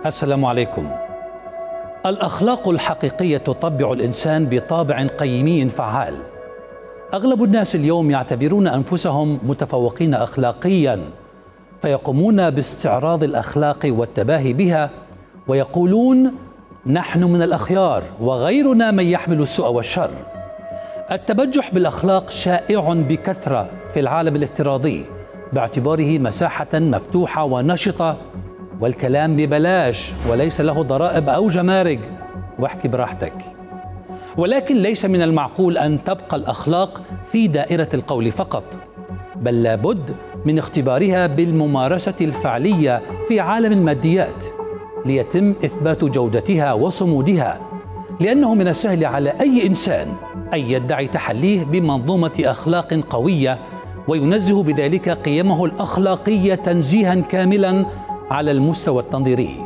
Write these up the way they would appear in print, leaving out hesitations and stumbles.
السلام عليكم. الأخلاق الحقيقية تطبع الإنسان بطابع قيمي فعال. أغلب الناس اليوم يعتبرون أنفسهم متفوقين أخلاقياً، فيقومون باستعراض الأخلاق والتباهي بها ويقولون نحن من الأخيار وغيرنا من يحمل السوء والشر. التبجح بالأخلاق شائع بكثرة في العالم الافتراضي باعتباره مساحة مفتوحة ونشطة، والكلام ببلاش وليس له ضرائب أو جمارك، واحكي براحتك. ولكن ليس من المعقول أن تبقى الأخلاق في دائرة القول فقط، بل لابد من اختبارها بالممارسة الفعلية في عالم الماديات ليتم إثبات جودتها وصمودها، لأنه من السهل على أي إنسان أن يدعي تحليه بمنظومة أخلاق قوية وينزه بذلك قيمه الأخلاقية تنزيها كاملا على المستوى التنظيري.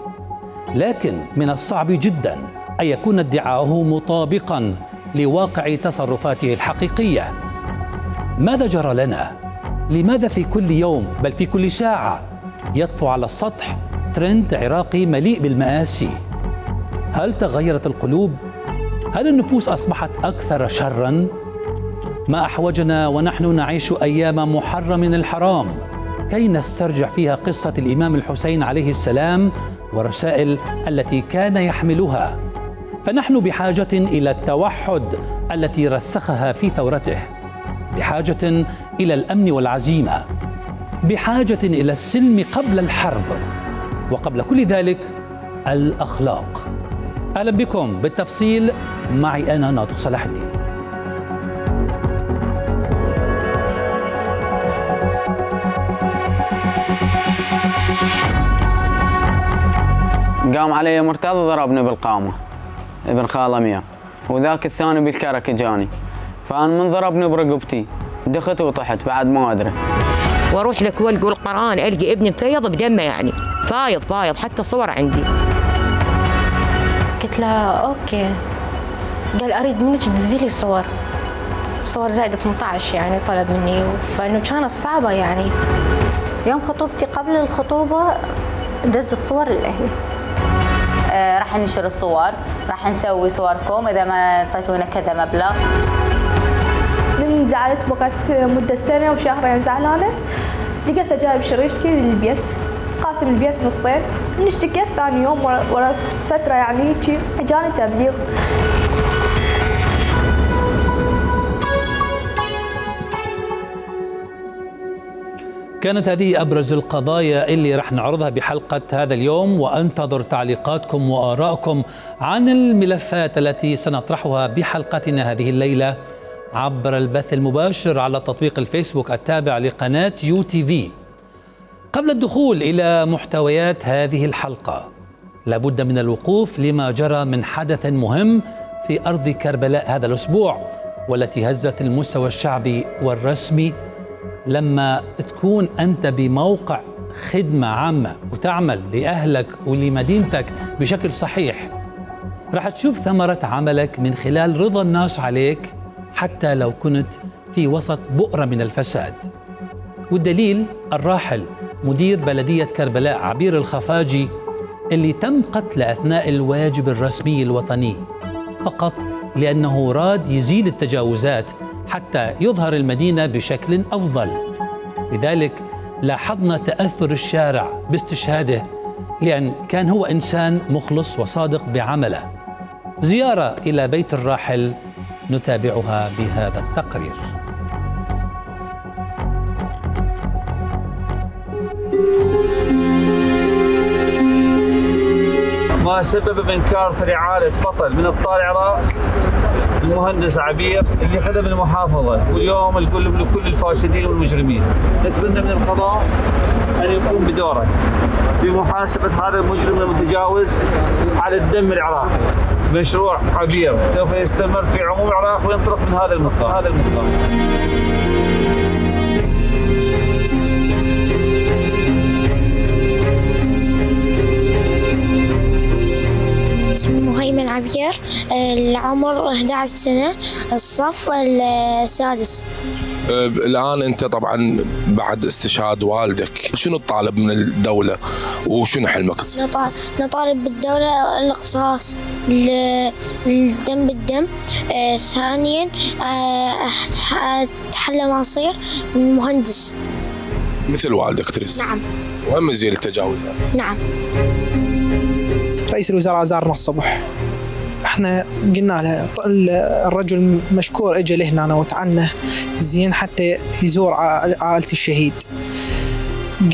لكن من الصعب جدا أن يكون ادعاؤه مطابقا لواقع تصرفاته الحقيقية. ماذا جرى لنا؟ لماذا في كل يوم بل في كل ساعة يطفو على السطح ترند عراقي مليء بالمآسي؟ هل تغيرت القلوب؟ هل النفوس أصبحت أكثر شرا؟ ما أحوجنا ونحن نعيش أيام محرم الحرام كي نسترجع فيها قصة الإمام الحسين عليه السلام ورسائل التي كان يحملها. فنحن بحاجة إلى التوحد التي رسخها في ثورته، بحاجة إلى الأمن والعزيمة، بحاجة إلى السلم قبل الحرب، وقبل كل ذلك الأخلاق. أهلا بكم بالتفصيل معي أنا ناطق صلاح الدين. قام علي مرتضى ضربني بالقامة ابن خال أمير، وذاك الثاني بالكرك جاني، فأنا من ضربني برقبتي دخت وطحت بعد ما أدري. واروح لك والقول القرآن ألقى ابني فيض بدمه، يعني فايض حتى صور عندي. قلت له أوكي، قال أريد منك تدزي لي صور زائدة 18 يعني طلب مني، فإنه كانت صعبة يعني. يوم خطوبتي قبل الخطوبة دز الصور للأهل. راح ننشر الصور، راح نسوي صوركم إذا ما أعطيتونا كذا مبلغ. من زعلت بقت مدة سنة وشهرين زعلانة، لقيته جايب شريشتي للبيت، قاسم البيت نصين، نشتكي ثاني يوم ورا فترة يعني هيك جاني تبليغ. كانت هذه أبرز القضايا اللي رح نعرضها بحلقة هذا اليوم، وأنتظر تعليقاتكم وآرائكم عن الملفات التي سنطرحها بحلقتنا هذه الليلة عبر البث المباشر على تطبيق الفيسبوك التابع لقناة UTV. قبل الدخول إلى محتويات هذه الحلقة لابد من الوقوف لما جرى من حدث مهم في أرض كربلاء هذا الأسبوع، والتي هزت المستوى الشعبي والرسمي. لما تكون أنت بموقع خدمة عامة وتعمل لأهلك ولمدينتك بشكل صحيح، راح تشوف ثمرة عملك من خلال رضا الناس عليك حتى لو كنت في وسط بؤرة من الفساد. والدليل الراحل مدير بلدية كربلاء عبير الخفاجي اللي تم قتله أثناء الواجب الرسمي الوطني فقط لأنه راد يزيل التجاوزات حتى يظهر المدينة بشكل أفضل. لذلك لاحظنا تأثر الشارع باستشهاده، لأن كان هو إنسان مخلص وصادق بعمله. زيارة إلى بيت الراحل نتابعها بهذا التقرير. ما سبب بإنكار رعالة بطل من أبطال العراق المهندس عبير اللي خدم المحافظة، واليوم نقول لكل الفاسدين والمجرمين نتمنى من القضاء أن يقوم بدوره بمحاسبة هذا المجرم المتجاوز على الدم العراقي. مشروع عبير سوف يستمر في عموم العراق وينطلق من هذا المقام. اسمي مهيمن عبير، العمر 11 سنة، الصف السادس. الآن أنت طبعا بعد استشهاد والدك شنو تطالب من الدولة وشنو حلمك؟ نطالب بالدولة القصاص الدم بالدم. ثانيا أتحلى مصير من مهندس مثل والدك تريد. نعم. وهم زين التجاوزات. نعم. رئيس الوزراء زارنا الصبح، احنا قلنا له الرجل مشكور اجى لهنا وتعنى زين حتى يزور عائلة الشهيد.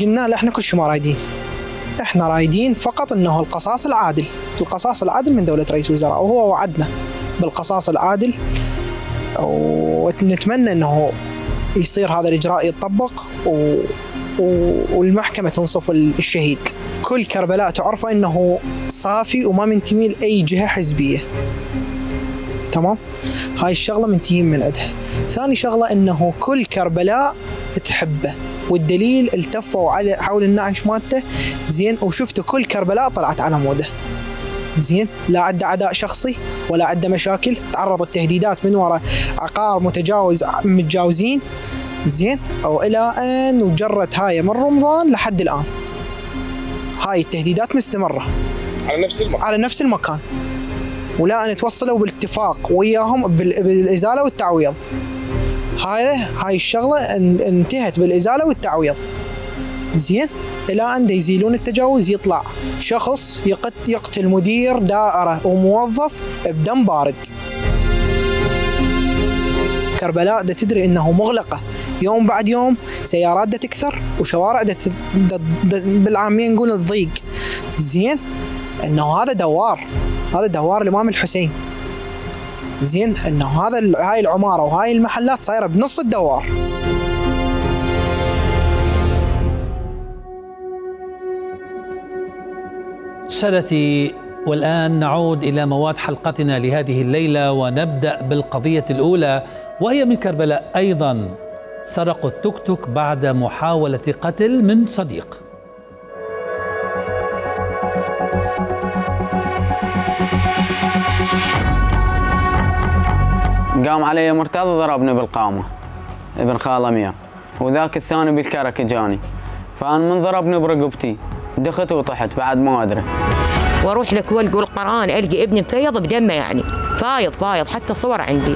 قلنا له احنا كل شيء ما رايدين، احنا رايدين فقط انه القصاص العادل، القصاص العادل من دولة رئيس الوزراء، وهو وعدنا بالقصاص العادل، ونتمنى انه يصير هذا الاجراء يتطبق والمحكمة تنصف الشهيد. كل كربلاء تعرفوا انه صافي وما منتمي لاي جهه حزبيه. تمام؟ هاي الشغله منتهين من عندها. ثاني شغله انه كل كربلاء تحبه، والدليل التفوا على حول النعش مالته زين، وشفتوا كل كربلاء طلعت على موده. زين، لا عنده عداء شخصي ولا عنده مشاكل، تعرض التهديدات من وراء عقار متجاوزين زين، او الى ان وجرت هاي من رمضان لحد الان. هاي التهديدات مستمرة على نفس المكان ولا أن توصلوا بالاتفاق وياهم بالإزالة والتعويض. هاي الشغلة انتهت بالإزالة والتعويض زين، إلى أن يزيلون التجاوز. يطلع شخص يقتل مدير دائرة وموظف بدم بارد. كربلاء دا تدري إنه مغلقة يوم بعد يوم، سيارات دا تكثر وشوارع بالعامية نقول الضيق زين، انه هذا دوار الامام الحسين زين، انه هاي العمارة وهاي المحلات صايرة بنص الدوار. سادتي، والآن نعود إلى مواد حلقتنا لهذه الليلة، ونبدأ بالقضية الأولى وهي من كربلاء أيضا. سرقوا التوك توك بعد محاولة قتل من صديق. قام علي مرتضى ضربني بالقامة ابن خال أمير، وذاك الثاني بالكرك جاني، فأنا من ضربني برقبتي دخت وطحت بعد ما أدري. واروح لكول قول قرآن القي ابني مفيض بدمه، يعني فايض حتى صور عندي.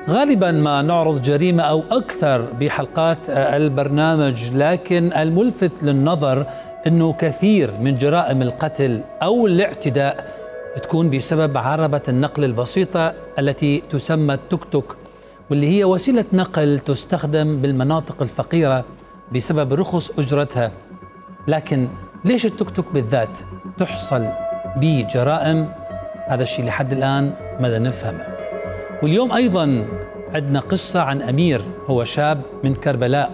غالبا ما نعرض جريمة أو أكثر بحلقات البرنامج، لكن الملفت للنظر أنه كثير من جرائم القتل أو الاعتداء تكون بسبب عربة النقل البسيطة التي تسمى التوك توك، واللي هي وسيلة نقل تستخدم بالمناطق الفقيرة بسبب رخص أجرتها. لكن ليش التوك توك بالذات تحصل به جرائم؟ هذا الشيء لحد الآن ماذا نفهمه. واليوم أيضا عندنا قصة عن أمير، هو شاب من كربلاء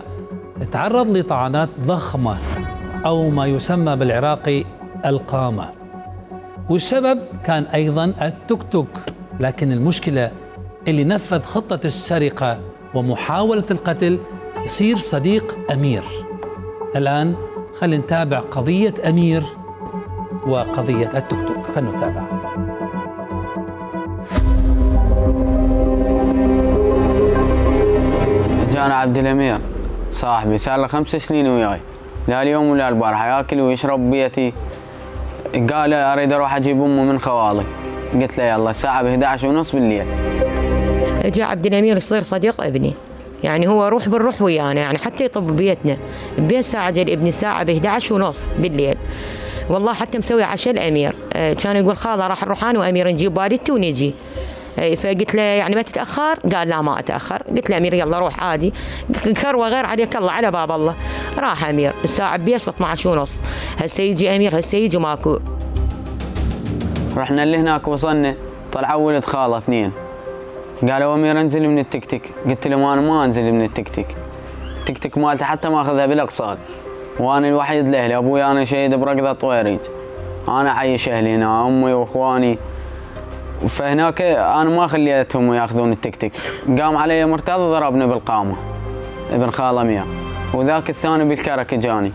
تعرض لطعنات ضخمة أو ما يسمى بالعراقي القامة، والسبب كان أيضا التوك توك. لكن المشكلة اللي نفذ خطة السرقة ومحاولة القتل يصير صديق أمير. الآن خلينا نتابع قضية أمير وقضية التوك توك، فلنتابع. جانا عبد الأمير صاحبي صار له 5 سنين وياي، لا اليوم ولا البارحة ياكل ويشرب بيتي. قال اريد اروح اجيب امه من خوالي، قلت له يلا الساعة ب11:30 بالليل. جاء عبد الأمير يصير صديق ابني، يعني هو روح بالروح ويانا، يعني حتى يطب بيتنا البيت ساعة جاء ابني الساعة ب11:30 بالليل. والله حتى مسوي عشاء الأمير، كان يقول خاله راح نروح انا وأمير نجيب والدتي ونجي. فقلت له يعني ما تتاخر؟ قال لا ما اتاخر. قلت له امير يلا روح عادي، كروه غير عليك الله على باب الله. راح امير الساعه بيش ب 12:30، هسه يجي امير هسه يجي ماكو. رحنا اللي هناك وصلنا طلعوا ولد خاله اثنين، قالوا امير انزل من التكتك. قلت لهم انا ما انزل من التكتك، التكتك مالته حتى ماخذها بالاقساط، وانا الوحيد لاهلي، ابوي انا شهيد بركضه طويريج، انا عايش اهلي هنا امي واخواني، فهناك انا ما خليتهم ياخذون التكتك. قام علي مرتضى ضربني بالقامه ابن خاله امير، وذاك الثاني بالكرك جاني،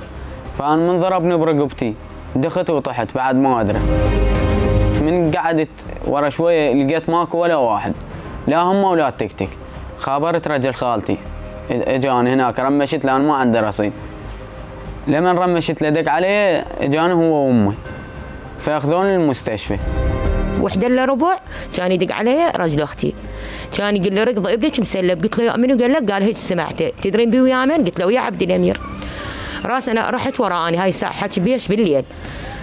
فانا من ضربني برقبتي دخت وطحت بعد ما ادري. من قعدت ورا شويه لقيت ماكو ولا واحد، لا هم ولا التكتك. خابرت رجل خالتي اجاني هناك، رمشت له انا ما عندي رصيد، لمن رمشت له دق عليه اجاني هو وامي، فاخذوني للمستشفى. 1:15 كان يدق علي رجل اختي، كان يقول لي ركض ابنك مسلب. قلت له يا منو؟ قال لك قال هيك سمعته. تدرين بي ويا من؟ قلت له ويا عبد الامير. راس انا رحت وراني هاي الساعه حكي بيش بالليل،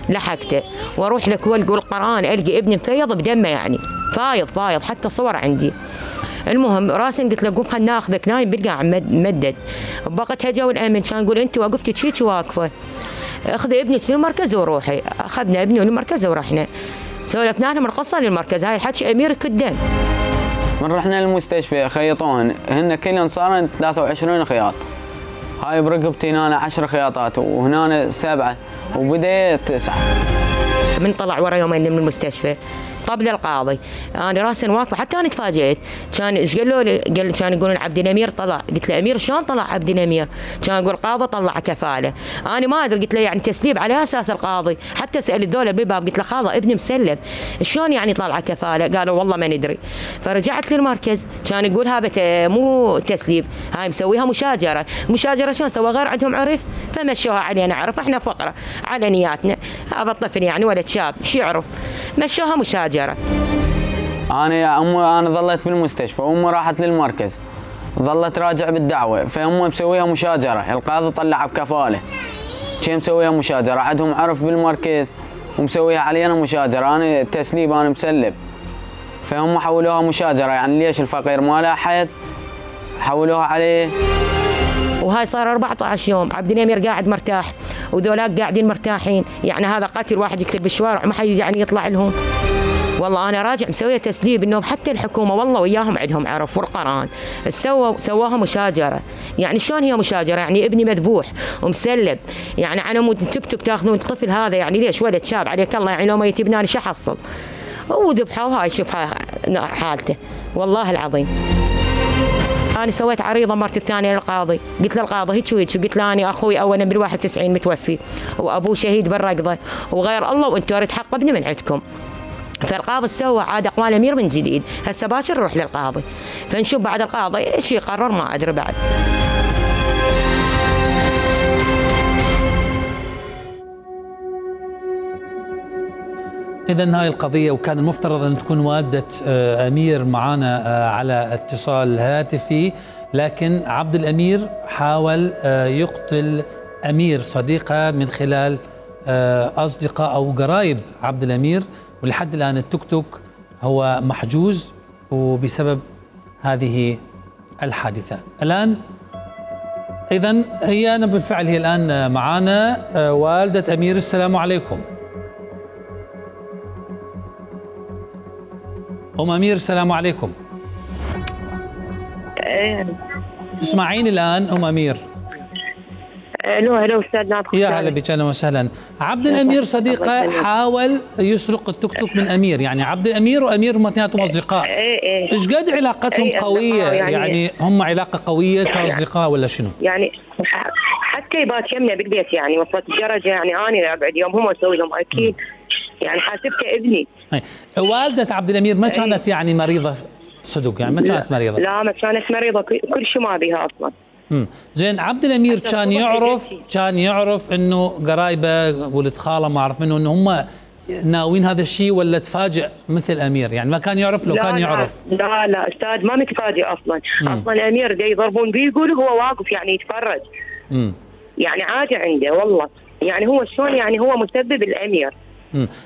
لحقته واروح لك والقوا القران القي ابني مفيض بدمه، يعني فايض حتى صور عندي. المهم راسا قلت له قوم خلنا ناخذك، نايم بالقاع ممدد. بقت هجا الامن كان يقول انت وقفتي شيك واقفه، اخذي ابنك للمركز وروحي. اخذنا ابني للمركز ورحنا سولفنا لهم القصه للمركز، هاي الحكي امير كدن. من رحنا للمستشفى خيطوهن، هن كلهم صارن 23 خياط، هاي برقبتي هنا 10 خياطات وهنا 7 وبديت 9. من طلع ورا يومين من المستشفى طب للقاضي، انا راسا واقفه حتى انا تفاجئت. كان ايش قالوا لي؟ كان يقولون عبد الامير طلع. قلت له امير شلون طلع عبد الامير؟ كان يقول القاضي طلع كفاله. انا ما ادري، قلت له يعني تسليب على اساس القاضي، حتى سال الدوله بالباب قلت له خاضه ابني مسلب شلون يعني طلع كفاله؟ قالوا والله ما ندري. فرجعت للمركز كان يقول هذا مو تسليب، هاي مسويها مشاجره. مشاجره شلون سوى؟ غير عندهم عرف فمشوها علينا عرف، احنا فقره على نياتنا، هذا الطفل يعني ولد شاب شو يعرف، مشوها مشاجره. انا ظليت بالمستشفى وامي راحت للمركز، ظلت راجع بالدعوه، فامي مسويها مشاجره، القاضي طلع بكفاله. شي مسويها مشاجره، عندهم عرف بالمركز ومسويها علي انا مشاجره، انا تسليب انا مسلب، فهم حولوها مشاجره. يعني ليش الفقير ما له حد حولوها عليه. وهاي صار 14 يوم عبد الامير قاعد مرتاح وذولاك قاعدين مرتاحين، يعني هذا قتل واحد يكتب بالشوارع ما حد يعني يطلع لهم. والله انا راجع مسويه تسليب، انه حتى الحكومه والله وياهم عندهم عرف والقران، سواها مشاجره. يعني شلون هي مشاجره؟ يعني ابني مذبوح ومسلب، يعني على مود تكتب تاخذون الطفل هذا، يعني ليش ولد شاب عليك الله، يعني لو ما يتبناني شو احصل؟ وذبحوا هاي شوف حالته والله العظيم. أنا سويت عريضة مرت الثانية للقاضي، قلت له القاضي هيك وهيك، قلت له أنا أخوي أولا بال91 متوفي وأبوه شهيد بالرقضة وغير الله، وأنتوا أريد حق ابني من عندكم. فالقاضي سوى عاد أقوال أمير من جديد، هسه باكر نروح للقاضي فنشوف بعد القاضي ايش يقرر ما أدري بعد. إذن هاي القضية، وكان المفترض أن تكون والدة أمير معنا على اتصال هاتفي، لكن عبد الأمير حاول يقتل أمير صديقة من خلال أصدقاء أو قرايب عبد الأمير، ولحد الآن التوك توك هو محجوز وبسبب هذه الحادثة. الآن إذن هي بالفعل هي الآن معنا والدة أمير. السلام عليكم أم أمير. السلام عليكم. تسمعين الآن أم أمير؟ الو استاذ ناطق. يا هلا بك، اهلا وسهلا. عبد الامير صديقه حاول يسرق التوك توك من امير، يعني عبد الامير وامير هم اثنيناتهم اصدقاء. ايش قد علاقتهم قويه؟ يعني هم علاقه قويه كاصدقاء ولا شنو؟ يعني حتى يبات يمنا بالبيت، يعني وصلت الدرجه يعني انا اقعد يوم هم اسوي لهم اكيد، يعني حاسبته ابني. والده عبد الامير ما كانت يعني مريضه صدق، يعني ما كانت مريضه؟ لا ما كانت مريضه، كل شيء ما بها اصلا. زين. عبد الامير كان يعرف انه قرايبه ولد خاله ما اعرف منه انه هم ناويين هذا الشيء، ولا تفاجئ مثل امير؟ يعني ما كان يعرف؟ لو كان يعرف لا استاذ ما متفاجئ اصلا. اصلا امير جاي يضربون بيه يقولوا هو واقف يعني يتفرج. يعني عادي عنده والله، يعني هو شلون يعني هو مسبب الامير،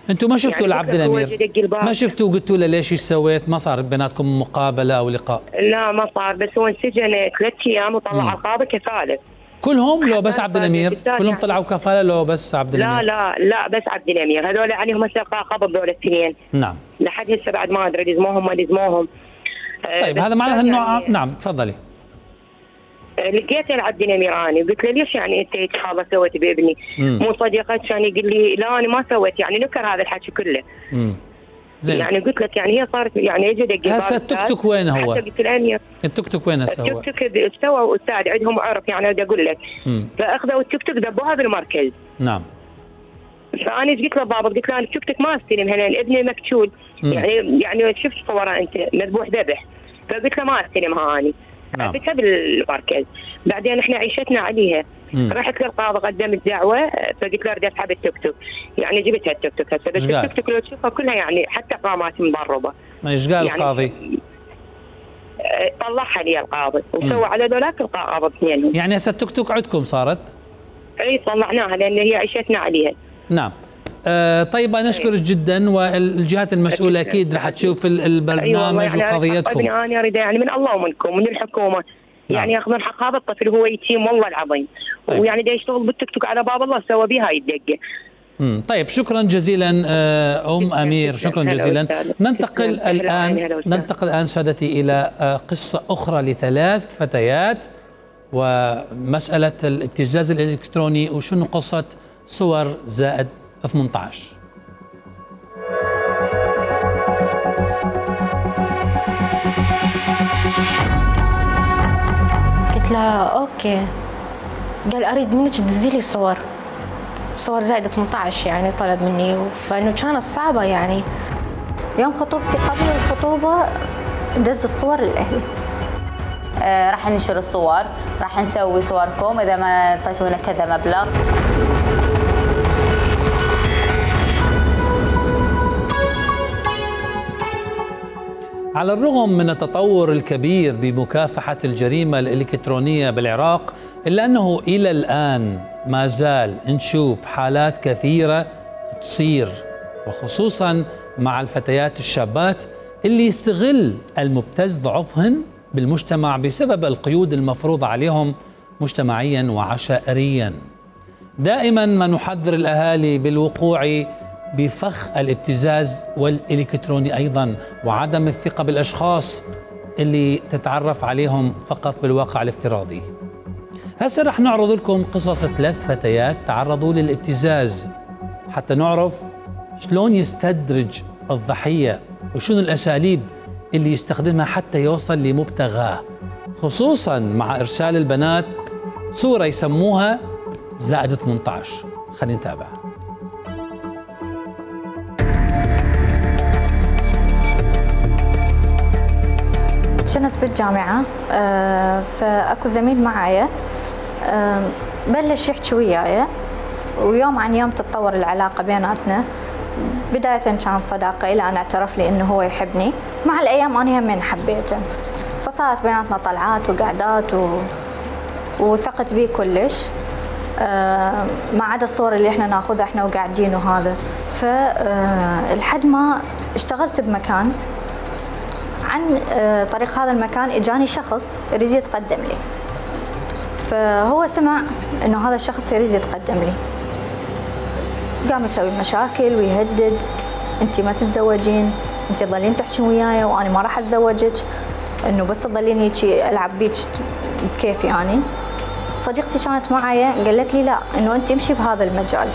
انتم ما شفتوا لعبد الامير؟ ما شفتوا وقلتوا له ليش ايش سويت؟ ما صار بيناتكم مقابله او لقاء؟ لا ما صار، بس هو انسجن 3 ايام وطلع القاضي كفاله. كلهم لو بس عبد الامير؟ كلهم طلعوا كفاله لو بس عبد الامير؟ لا بس عبد الامير، هذول عليهم هسه قبض ذول الاثنين. نعم. لحد هسه بعد ما ادري لزموهم ما لزموهم. طيب هذا معناه انه نعم تفضلي. لقيته لعبد الامير اني قلت له ليش يعني انت هذا سويت بابني؟ مو صديقك كان يقول لي لا انا ما سويت، يعني نكر هذا الحكي كله. زين. يعني قلت لك يعني هي صارت يعني اجى دق هسه التوك توك وين هو؟ قلت الامير التوك توك وين هسه هو؟ التوك توك استوى استاذ عندهم عرف يعني بدي اقول لك. فاخذوا التوك توك دبوها بالمركز. نعم. فانا ايش قلت للضابط؟ قلت له انا التوك توك ما استلم هنا ابني مكتول. يعني شفت صوره انت مذبوح ذبح. فقلت له ما استلمها اني. نعم. حبيتها بالمركز. بعدين احنا عيشتنا عليها. رحت للقاضي قدمت دعوه فقلت له اريد اسحب التوك توك، يعني جبتها التوك توك هسه بس التوك توك لو تشوفها كلها يعني حتى قامات مضربه. ايش قال يعني القاضي؟ طلعها لي القاضي وسوى على ذولاك القاضي اثنين. يعني هسه التوك توك عندكم صارت؟ اي طلعناها لان هي عيشتنا عليها. نعم. طيب انا اشكرك جدا، والجهات المسؤوله اكيد رح تشوف البرنامج وقضيتكم. انا اريد يعني من الله ومنكم ومن الحكومه يعني ياخذون حق هذا الطفل، هو يتيم والله العظيم. طيب. ويعني دا يشتغل بالتيك توك على باب الله سوى بها هاي الدقه. طيب شكرا جزيلا امير، شكرا جزيلا. ننتقل الان سادتي الى قصه اخرى ل3 فتيات ومساله الابتزاز الالكتروني وشنو قصه صور زائد 18. قلت له اوكي. قال اريد منك تدزي لي صور زائد 18 يعني طلب مني، فانه كانت صعبه يعني. يوم خطوبتي قبل الخطوبه دز الصور لاهلي. راح ننشر الصور، راح نسوي صوركم اذا ما اعطيتونا كذا مبلغ. على الرغم من التطور الكبير بمكافحة الجريمة الإلكترونية بالعراق، إلا أنه إلى الآن ما زال نشوف حالات كثيرة تصير، وخصوصا مع الفتيات الشابات اللي يستغل المبتز ضعفهن بالمجتمع بسبب القيود المفروضة عليهم مجتمعيا وعشائريا. دائما ما نحذر الأهالي بالوقوع بفخ الابتزاز والإلكتروني أيضا، وعدم الثقة بالأشخاص اللي تتعرف عليهم فقط بالواقع الافتراضي. هسه رح نعرض لكم قصص 3 فتيات تعرضوا للابتزاز حتى نعرف شلون يستدرج الضحية وشنو الأساليب اللي يستخدمها حتى يوصل لمبتغاه، خصوصا مع إرسال البنات صورة يسموها زائد 18. خلينا نتابع. كنت بالجامعة فأكو زميل معايا بلش يحكي وياي، ويوم عن يوم تتطور العلاقة بيناتنا. بداية كان صداقة إلى أن اعترف لي إنه هو يحبني. مع الأيام أنا همين حبيته، فصارت بيناتنا طلعات وقعدات وثقت بيه كلش، ما عدا الصور اللي احنا ناخذها احنا وقاعدين وهذا. فلحد ما اشتغلت بمكان، عن طريق هذا المكان اجاني شخص يريد يتقدم لي، فهو سمع انه هذا الشخص يريد يتقدم لي، قام يسوي مشاكل ويهدد، انت ما تتزوجين، انت تظلين تحكين وياي وانا ما راح اتزوجك، انه بس تظلين هيك العب بيك بكيفي. يعني صديقتي كانت معايا قالت لي لا، انه انت امشي بهذا المجال،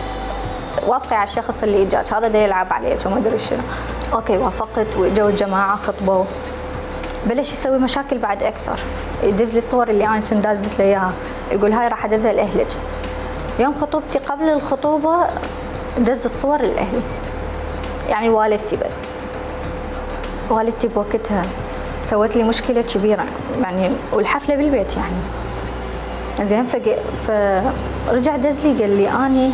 وافقي على الشخص اللي اجاك، هذا دا يلعب عليك وما ادري شنو. اوكي وافقت، واجوا الجماعه خطبوا، بلش يسوي مشاكل بعد اكثر، يدز لي الصور اللي انا كنت دازت له اياها، يقول هاي راح ادزها لاهلك. يوم خطوبتي قبل الخطوبه دز الصور لاهلي، يعني والدتي بس. والدتي بوقتها سوت لي مشكله كبيره يعني، والحفله بالبيت يعني زين. فرجع دز لي قال لي اني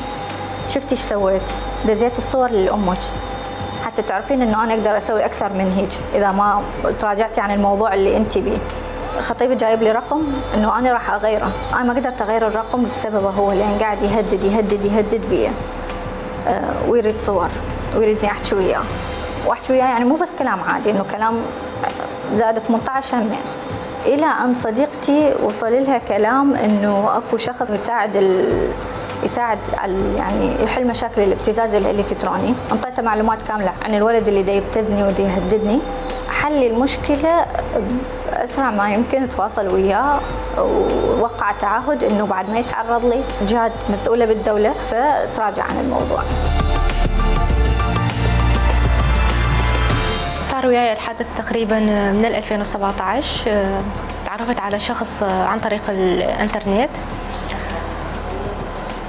شفتي ايش سويت، دزيت الصور لامك حتى تعرفين انه انا اقدر اسوي اكثر من هيك اذا ما تراجعتي عن الموضوع اللي انت بيه. خطيبي جايب لي رقم انه انا راح اغيره، انا ما قدرت اغير الرقم بسببه هو، لان قاعد يهدد يهدد يهدد بيه. ويريد صور ويريدني احكي وياه، واحكي وياه يعني مو بس كلام عادي، انه كلام زاد 18 همين، الى ان صديقتي وصل لها كلام انه اكو شخص يساعد على يعني يحل مشاكل الابتزاز الالكتروني. انطيته معلومات كامله عن الولد اللي دا يبتزني ودا يهددني، حل المشكله اسرع ما يمكن، تواصل وياه ووقع تعهد انه بعد ما يتعرض لي جهات مسؤوله بالدوله فتراجع عن الموضوع. صار وياي الحادث تقريبا من 2017. تعرفت على شخص عن طريق الانترنت،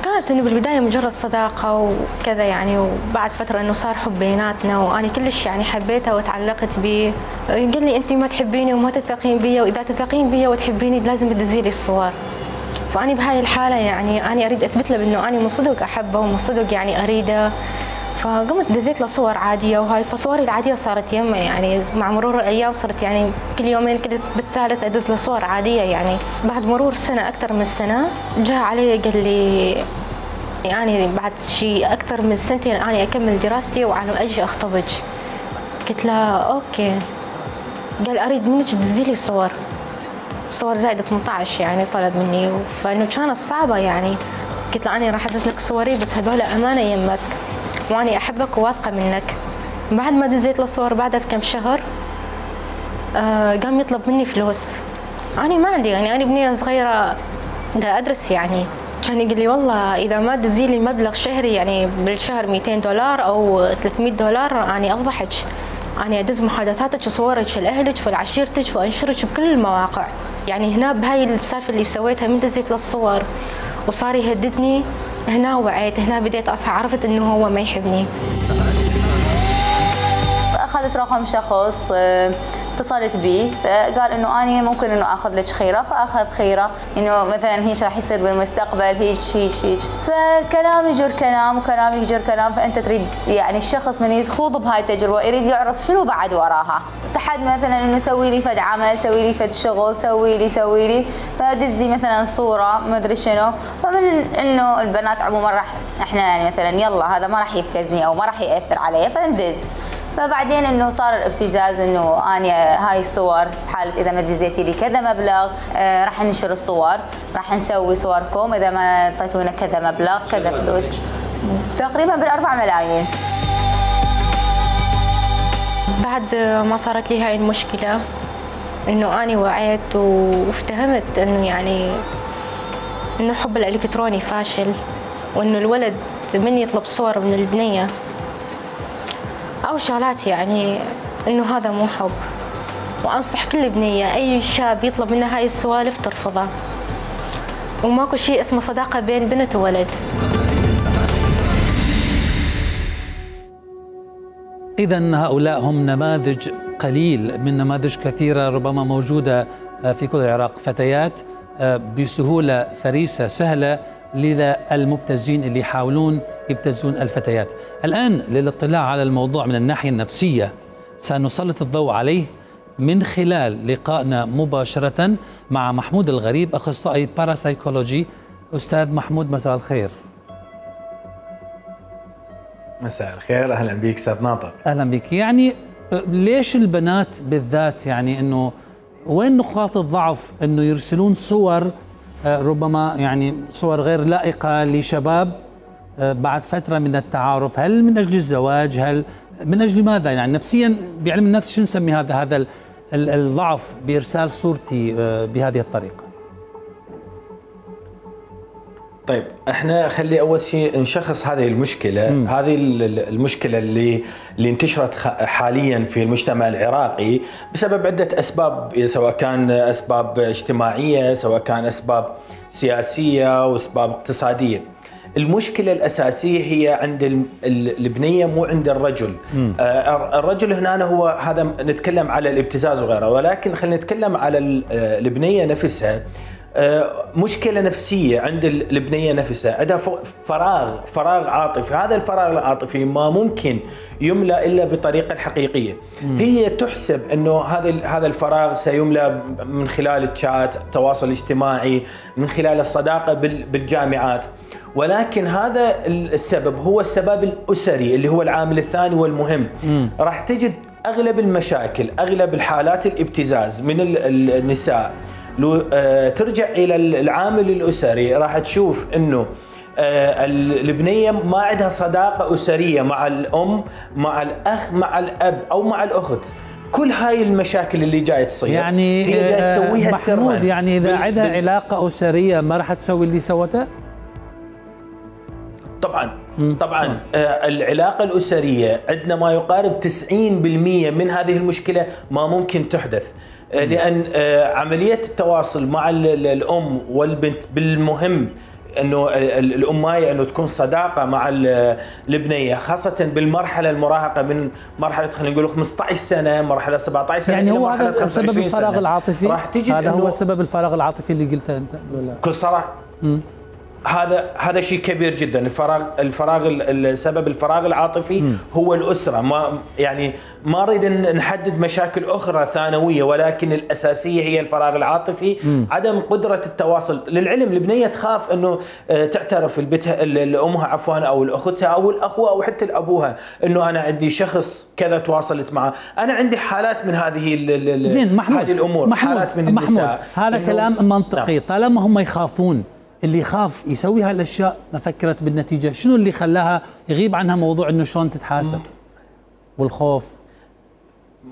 كانت انه بالبدايه مجرد صداقه وكذا يعني، وبعد فتره انه صار حب بيناتنا وانا كلش يعني حبيته وتعلقت به. قال لي انت ما تحبيني وما تثقين بي، واذا تثقين بي وتحبيني لازم تدزي لي الصور. فاني بهاي الحاله يعني انا اريد اثبت له بانه انا من صدق احبه ومن صدق يعني اريده، فقمت دزيت له صور عاديه، وهاي فصوري العاديه صارت يمه يعني مع مرور الايام صرت يعني كل يومين كل بالثالث ادز له صور عاديه يعني. بعد مرور سنه اكثر من سنه جاء علي قال لي يعني بعد شيء اكثر من سنتين انا اكمل دراستي وعلى اجي اخطبج. قلت له اوكي. قال اريد منك تدزي لي صور زائده 18 يعني طلب مني، فانه كانت صعبه يعني. قلت له انا راح ادز لك صوري بس هذول امانه يمك واني احبك وواثقه منك. بعد ما دزيت له صور بعدها بكم شهر قام يطلب مني فلوس. انا ما عندي يعني، انا بنيه صغيره دا ادرس يعني. كان يقول لي والله اذا ما تدزي لي مبلغ شهري يعني بالشهر $200 او $300 اني افضحك، اني ادز محادثاتك وصورك لاهلك ولعشيرتك وانشرك بكل المواقع. يعني هنا بهاي السالفه اللي سويتها من دزيت له الصور وصار يهددني، هنا وعيت، هنا بديت اصحى عرفت انه هو ما يحبني. اخذت رقم شخص اتصلت به فقال انه اني ممكن انه اخذ لك خيره، فاخذ خيره انه مثلا هيك راح يصير بالمستقبل هيك هيك هيك. فكلام يجر كلام وكلام يجر كلام، فانت تريد يعني الشخص من يخوض بهاي التجربه يريد يعرف شنو بعد وراها. تحد مثلا انه سوي لي فد عمل، سوي لي فد شغل، سوي لي فدزي مثلا صوره ما ادري شنو. فمن انه البنات عموما راح احنا يعني مثلا يلا هذا ما راح يبتزني او ما راح ياثر علي فندز. فبعدين انه صار الابتزاز انه انا هاي الصور بحاله اذا ما دزيتي لي كذا مبلغ راح ننشر الصور، راح نسوي صوركم اذا ما اعطيتونا كذا مبلغ كذا فلوس، تقريبا بال4 ملايين. بعد ما صارت لي هاي المشكله انه اني وعيت وافتهمت انه يعني انه حب الالكتروني فاشل، وانه الولد من يطلب صور من البنيه أو شغلات يعني إنه هذا مو حب. وأنصح كل بنية أي شاب يطلب منها هاي السوالف ترفضه، وماكو شيء اسمه صداقة بين بنت وولد. إذن هؤلاء هم نماذج قليل من نماذج كثيرة ربما موجودة في كل العراق، فتيات بسهولة فريسة سهلة لذا المبتزين اللي يحاولون يبتزون الفتيات. الآن للاطلاع على الموضوع من الناحية النفسية سنسلط الضوء عليه من خلال لقائنا مباشرة مع محمود الغريب، أخصائي باراسايكولوجي. أستاذ محمود مساء الخير. مساء الخير، أهلا بك أستاذ ناطق. أهلا بك. يعني ليش البنات بالذات يعني أنه وين نقاط الضعف أنه يرسلون صور ربما يعني صور غير لائقة لشباب بعد فترة من التعارف؟ هل من أجل الزواج؟ هل من أجل ماذا؟ يعني نفسيا بعلم النفس شو نسمي هذا الضعف بإرسال صورتي بهذه الطريقة؟ طيب احنا خلي اول شيء نشخص هذه المشكله. هذه المشكله اللي انتشرت حاليا في المجتمع العراقي بسبب عده اسباب، سواء كان اسباب اجتماعيه، سواء كان اسباب سياسيه واسباب اقتصاديه. المشكله الاساسيه هي عند البنيه مو عند الرجل. الرجل هنا هو هذا نتكلم على الابتزاز وغيره، ولكن خلينا نتكلم على البنيه نفسها. مشكلة نفسية عند البنية نفسها، عندها فراغ عاطفي. هذا الفراغ العاطفي ما ممكن يملأ إلا بطريقة الحقيقية. هي تحسب أنه هذا الفراغ سيملأ من خلال الشات، التواصل الاجتماعي، من خلال الصداقة بالجامعات، ولكن هذا السبب هو السبب الأسري اللي هو العامل الثاني والمهم. راح تجد أغلب المشاكل، أغلب الحالات الابتزاز من النساء لو ترجع إلى العامل الأسري، راح تشوف أنه البنية ما عندها صداقة أسرية مع الأم، مع الأخ، مع الأب أو مع الأخت. كل هاي المشاكل اللي جاية تصير يعني هي جاية تسويها محمود سرًا. يعني إذا عندها علاقة أسرية ما راح تسوي اللي سوته؟ طبعا العلاقة الأسرية عندنا ما يقارب 90% من هذه المشكلة ما ممكن تحدث، لأن عملية التواصل مع الأم والبنت بالمهم انه الامايه انه تكون صداقه مع البنيه، خاصه بالمرحله المراهقه من مرحله خلينا نقول 15 سنه، مرحله 17 سنه. يعني هو هذا سبب الفراغ العاطفي؟ راح تجد هذا هو سبب الفراغ العاطفي اللي قلته انت ولا؟ بكل صراحه هذا شيء كبير جدا. سبب الفراغ العاطفي هو الاسره. ما نريد نحدد مشاكل اخرى ثانويه، ولكن الاساسيه هي الفراغ العاطفي. عدم قدره التواصل. للعلم البنيه تخاف انه تعترف لامها او لاختها او الاخوه او حتى لابوها انه انا عندي شخص كذا تواصلت معه. انا عندي حالات من هذه هذه الامور، حالات من النساء. هذا كلام منطقي. طالما هم يخافون، اللي يخاف يسوي هالاشياء ما فكرت بالنتيجه. شنو اللي خلاها يغيب عنها موضوع انه شلون تتحاسب والخوف؟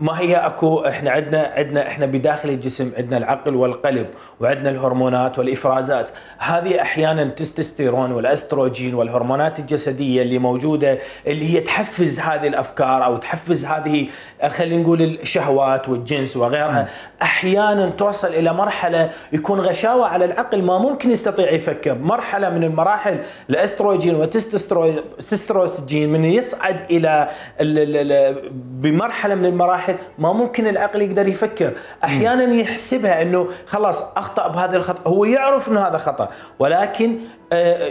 ما هي اكو احنا بداخل الجسم عندنا العقل والقلب، وعندنا الهرمونات والافرازات. هذه احيانا التستوستيرون والاستروجين والهرمونات الجسديه اللي موجوده اللي هي تحفز هذه الافكار او تحفز هذه خلينا نقول الشهوات والجنس وغيرها. احيانا توصل الى مرحله يكون غشاوه على العقل، ما ممكن يستطيع يفكر. مرحله من المراحل الاستروجين والتستوستيرون من يصعد الى بمرحله من المراحل ما ممكن العقل يقدر يفكر. احيانا يحسبها انه خلاص اخطا بهذا الخطا، هو يعرف انه هذا خطا، ولكن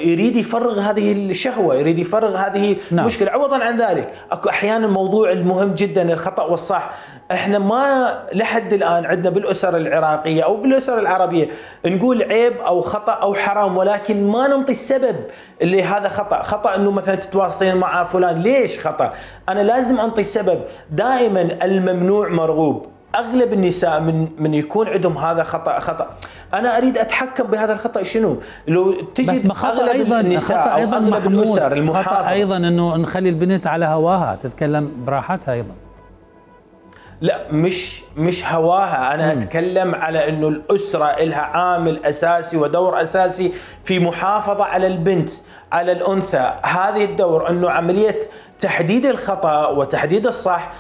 يريد يفرغ هذه الشهوه، يريد يفرغ هذه المشكله. عوضا عن ذلك اكو احيانا الموضوع المهم جدا الخطا والصح. احنا ما لحد الان عندنا بالاسر العراقيه او بالاسر العربيه نقول عيب او خطا او حرام، ولكن ما ننطي السبب اللي هذا خطا انه مثلا تتواصلين مع فلان. ليش خطا؟ انا لازم انطي السبب. دائما الممنوع مرغوب. اغلب النساء من يكون عندهم هذا خطا انا اريد اتحكم بهذا الخطا. شنو لو تجد اغلب النساء او اغلب الاسر المحافظه خطا ايضا انه نخلي البنت على هواها تتكلم براحتها ايضا. لا مش هواها. انا اتكلم على انه الاسره لها عامل اساسي ودور اساسي في محافظه على البنت، على الانثى. هذه الدور انه عمليه تحديد الخطا وتحديد الصح.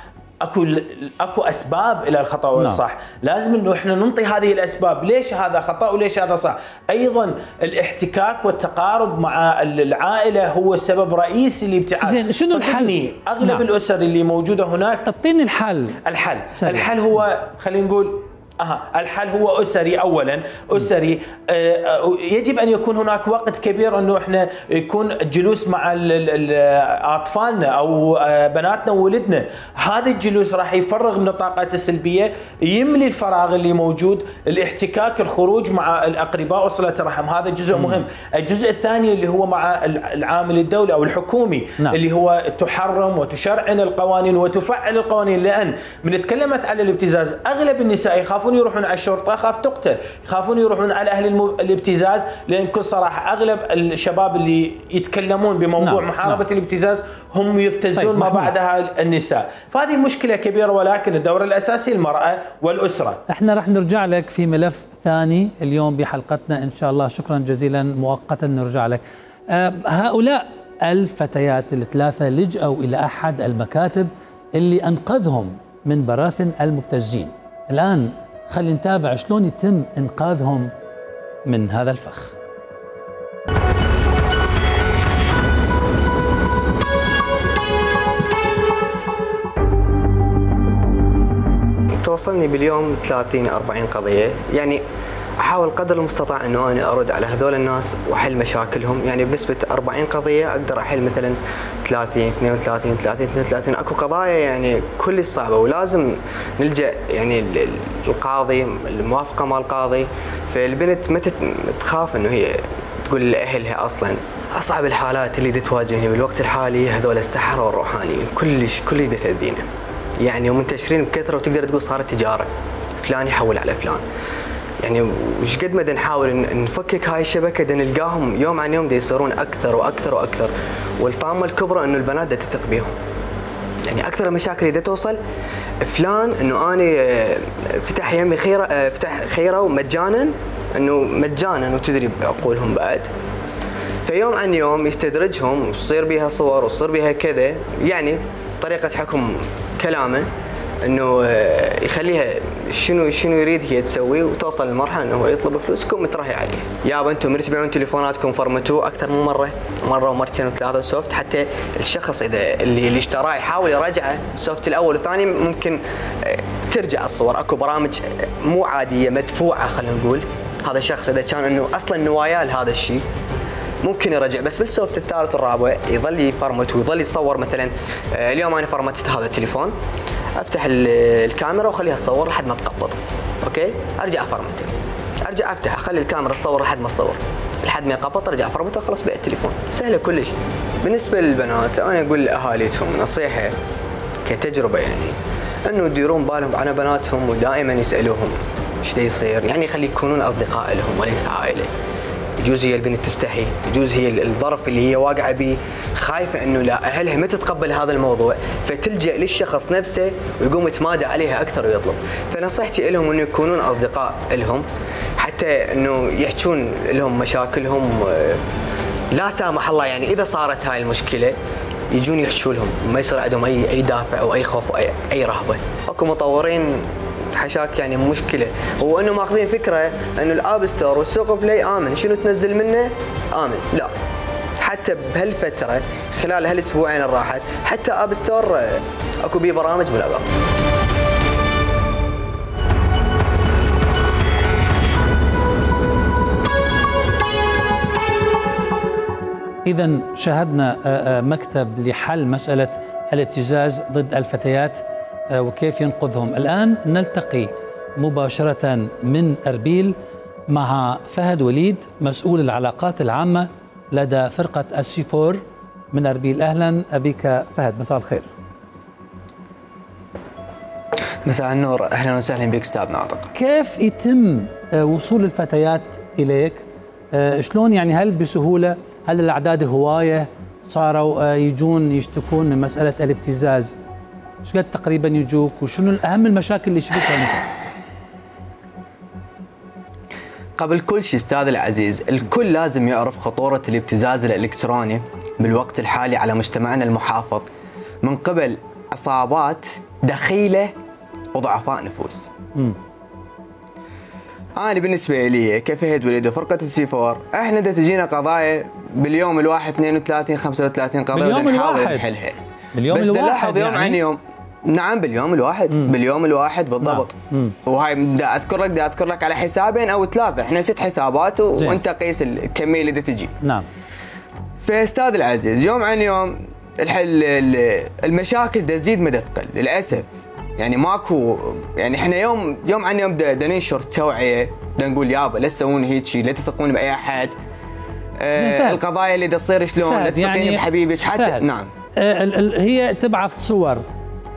اكو اسباب الى الخطا والصح. لازم انه احنا ننطي هذه الاسباب، ليش هذا خطا وليش هذا صح. ايضا الاحتكاك والتقارب مع العائله هو سبب رئيسي لابتعاد. شنو الحل؟ اغلب الاسر اللي موجوده هناك. اعطيني الحل. الحل هو خلينا نقول الحل هو أسري. أولا أسري. يجب أن يكون هناك وقت كبير أنه إحنا يكون جلوس مع أطفالنا أو بناتنا وولدنا. هذا الجلوس راح يفرغ من الطاقات السلبية، يملي الفراغ اللي موجود. الاحتكاك، الخروج مع الأقرباء وصلة الرحم، هذا جزء مهم. الجزء الثاني اللي هو مع العامل الدولي أو الحكومي اللي هو تحرم وتشرعن القوانين وتفعل القوانين. لأن من تكلمت على الابتزاز أغلب النساء يخافون يروحون على الشرطه، خاف تقتل، يخافون يروحون على اهل الابتزاز. لان بكل صراحه اغلب الشباب اللي يتكلمون بموضوع محاربه الابتزاز هم يبتزون ما بعدها النساء. فهذه مشكله كبيره، ولكن الدور الاساسي المراه والاسره. احنا راح نرجع لك في ملف ثاني اليوم بحلقتنا ان شاء الله. شكرا جزيلا. مؤقتا نرجع لك. هؤلاء الفتيات الثلاثه لجأوا الى احد المكاتب اللي انقذهم من براثن المبتزين. الان خلينا نتابع شلون يتم إنقاذهم من هذا الفخ. توصلني باليوم 30-40 قضية. يعني احاول قدر المستطاع انه انا ارد على هذول الناس واحل مشاكلهم، يعني بنسبه 40 قضيه اقدر احل مثلا 30 32 30 32. اكو قضايا يعني كلش صعبه ولازم نلجا يعني القاضي، الموافقه مال القاضي، فالبنت ما تخاف انه هي تقول لاهلها. اصلا اصعب الحالات اللي تواجهني بالوقت الحالي هذول السحره والروحانيين، كلش تاذينا يعني، ومنتشرين بكثره، وتقدر تقول صارت تجاره، فلان يحول على فلان. يعني وش قد ما نحاول نفكك هاي الشبكه نلقاهم يوم عن يوم يصيرون اكثر واكثر واكثر، والطامه الكبرى انه البنات تثق بهم. يعني اكثر المشاكل اللي توصل فلان انه انا فتح يمي خيره، فتح خيره ومجانا، انه مجانا وتدري بعقولهم بعد. فيوم عن يوم يستدرجهم وتصير بيها صور وتصير بيها كذا، يعني طريقه حكم كلامه انه يخليها شنو يريد هي تسوي، وتوصل لمرحله انه هو يطلب فلوس يكون مترهي عليه. يابا انتم من تبيعون تليفوناتكم فرمتوه اكثر من مره ومرتين وثلاثه سوفت، حتى الشخص اذا اللي اشتراه يحاول يراجعه السوفت الاول والثاني، ممكن ترجع الصور. اكو برامج مو عاديه مدفوعه، خلينا نقول هذا الشخص اذا كان انه اصلا نواياه لهذا الشيء ممكن يرجع، بس بالسوفت الثالث والرابع يظل يفرمت ويظل يصور. مثلا اليوم انا فرمتت هذا التليفون، افتح الكاميرا واخليها تصور لحد ما تقبض، اوكي، ارجع افرمته، ارجع افتح اخلي الكاميرا تصور لحد ما تصور، لحد ما يقبض ارجع افرمته وخلاص بيع التليفون، سهله كلش. بالنسبه للبنات انا اقول لاهاليتهم نصيحه كتجربه، يعني انه يديرون بالهم على بناتهم ودائما يسالوهم ايش يصير، يعني يخلي يكونون اصدقاء لهم وليس عائله. يجوز هي البنت تستحي، يجوز هي الظرف اللي هي واقعه به خايفه انه لا اهلها ما تتقبل هذا الموضوع، فتلجا للشخص نفسه ويقوم يتمادى عليها اكثر ويطلب. فنصيحتي لهم انه يكونون اصدقاء لهم، حتى انه يحجون لهم مشاكلهم، لا سامح الله يعني اذا صارت هاي المشكله يجون يحشوا لهم، ما يصير عندهم اي دافع او اي خوف او اي رهبه. اكو مطورين حشاك يعني مشكله، هو انه ماخذين فكره انه الاب ستور والسوق بلاي امن، شنو تنزل منه امن، لا. حتى بهالفتره خلال هالاسبوعين اللي راحت حتى اب ستور اكو بيه برامج ملغاه. إذا شاهدنا مكتب لحل مسألة الابتزاز ضد الفتيات وكيف ينقذهم. الآن نلتقي مباشرة من أربيل مع فهد وليد مسؤول العلاقات العامة لدى فرقة السي4 من أربيل. أهلا بك فهد، مساء الخير. مساء النور، أهلا وسهلا بك أستاذ ناطق. كيف يتم وصول الفتيات إليك؟ شلون يعني، هل بسهولة؟ هل الأعداد هواية صاروا يجون يشتكون من مسألة الابتزاز؟ ايش قد تقريبا يجوك، وشنو أهم المشاكل اللي شفتها أنت؟ قبل كل شيء أستاذ العزيز، الكل لازم يعرف خطورة الابتزاز الإلكتروني بالوقت الحالي على مجتمعنا المحافظ من قبل عصابات دخيلة وضعفاء نفوس. أنا بالنسبة لي كفهد وليد وفرقة السي4 احنا تجينا قضايا باليوم الواحد 32 35 قضية ونحاول نحلها. باليوم الواحد يوم عن يوم. نعم باليوم الواحد. باليوم الواحد بالضبط. وهاي دا اذكر لك على حسابين او ثلاثة، احنا 6 حسابات وانت قيس الكمية اللي تجي. نعم. فاستاذ العزيز يوم عن يوم المشاكل تزيد ما تقل للاسف. يعني ماكو، يعني احنا يوم عن يوم ننشر توعيه، نقول يابا لا تسوون هيك شيء، لا تثقون باي احد. القضايا اللي تصير شلون، لا تثقين يعني بحبيبك حتى. نعم. هي تبعث صور،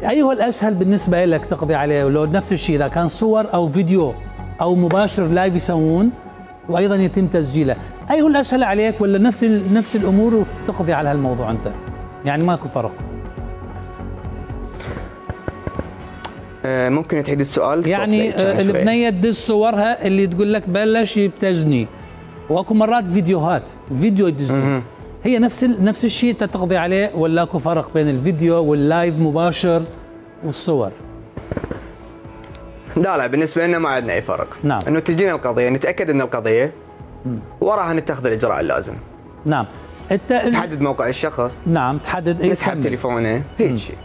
ايهو الاسهل بالنسبه لك تقضي عليه؟ ولو نفس الشيء اذا كان صور او فيديو او مباشر لايف يسوون وايضا يتم تسجيله، ايهو الاسهل عليك، ولا نفس الامور وتقضي على هالموضوع انت؟ يعني ماكو فرق. ممكن تعيد السؤال؟ يعني البنيه تدز صورها اللي تقول لك بلش يبتزني، واكو مرات فيديو يدزوه، هي نفس الشيء تقضي عليه، ولا اكو فرق بين الفيديو واللايف مباشر والصور؟ لا بالنسبه لنا ما عندنا اي فرق. نعم. انه تجينا القضيه نتاكد ان القضيه وراها نتخذ الاجراء اللازم. نعم. تحدد موقع الشخص. نعم. تحدد نسحب تليفونه، هيك شيء.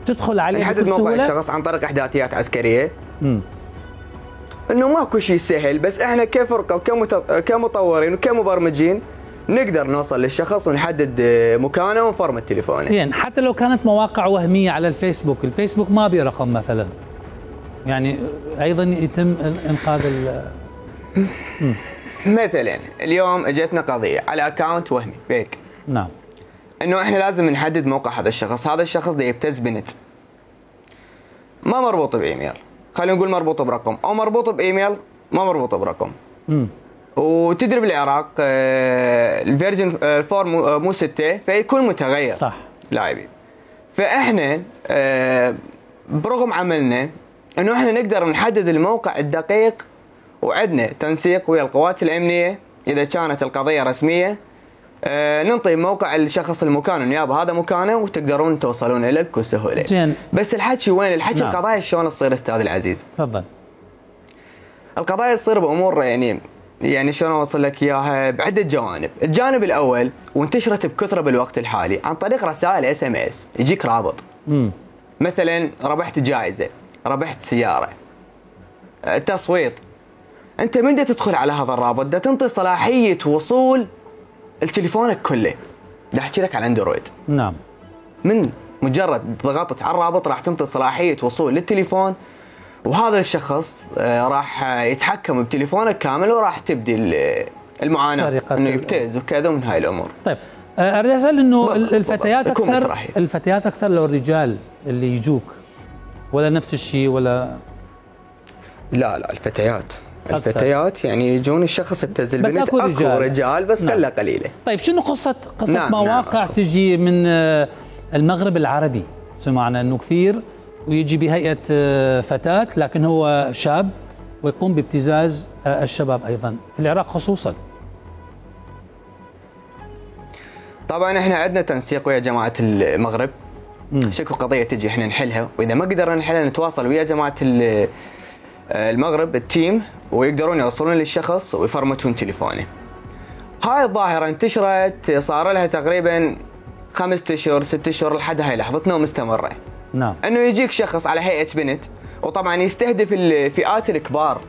تدخل عليه نحدد موقع الشخص عن طريق احداثيات عسكريه. انه ماكو شيء سهل، بس احنا كفرقه كمطورين وكمبرمجين نقدر نوصل للشخص ونحدد مكانه ونفرمت تليفونه. يعني حتى لو كانت مواقع وهميه على الفيسبوك، الفيسبوك ما بيه رقم مثلا، يعني ايضا يتم انقاذ مثلا اليوم اجتنا قضيه على اكونت وهمي فيك. نعم. انه احنا لازم نحدد موقع هذا الشخص، هذا الشخص ده يبتز بنت ما مربوط بايميل، خلينا نقول مربوط برقم، او مربوط بايميل ما مربوط برقم. وتدري بالعراق الفيرجن 4 مو 6 فيكون متغير. صح. لاعبين. فاحنا برغم عملنا انه احنا نقدر نحدد الموقع الدقيق، وعندنا تنسيق ويا القوات الامنيه اذا كانت القضيه رسميه، ننطي موقع الشخص المكان النيابه هذا مكانه وتقدرون توصلون اليه بكل سهوله. زين. بس الحكي وين؟ الحكي نعم. القضايا شلون تصير استاذ العزيز؟ تفضل. القضايا تصير بامور يعني شلون اوصل لك اياها بعده جوانب، الجانب الاول وانتشرت بكثره بالوقت الحالي عن طريق رسائل SMS، يجيك رابط. مثلا ربحت جائزه، ربحت سياره، تصويت. انت من دا تدخل على هذا الرابط دا تنطي صلاحيه وصول لتليفونك كله. دا احكي لك على اندرويد. نعم. من مجرد ضغطت على الرابط راح تنطي صلاحيه وصول للتليفون، وهذا الشخص راح يتحكم بتليفونك كامل وراح تبدي المعاناه انه يبتز وكذا من هاي الامور. طيب اريد اسال انه الفتيات اكثر لو الرجال اللي يجوك ولا نفس الشيء ولا؟ لا الفتيات يعني يجون الشخص يبتز البنت. اكو رجال بس قله قليله. طيب شنو قصه مواقع تجي من المغرب العربي؟ سمعنا انه كثير ويجي بهيئه فتاه لكن هو شاب ويقوم بابتزاز الشباب ايضا في العراق خصوصا. طبعا احنا عندنا تنسيق ويا جماعه المغرب. شكو قضيه تجي احنا نحلها، واذا ما قدرنا نحلها نتواصل ويا جماعه المغرب التيم ويقدرون يوصلون للشخص ويفرمتون تليفونه. هاي الظاهره انتشرت صار لها تقريبا 5 اشهر 6 اشهر لحد هاي لحظتنا ومستمره. نعم. انه يجيك شخص على هيئه بنت وطبعا يستهدف الفئات الكبار.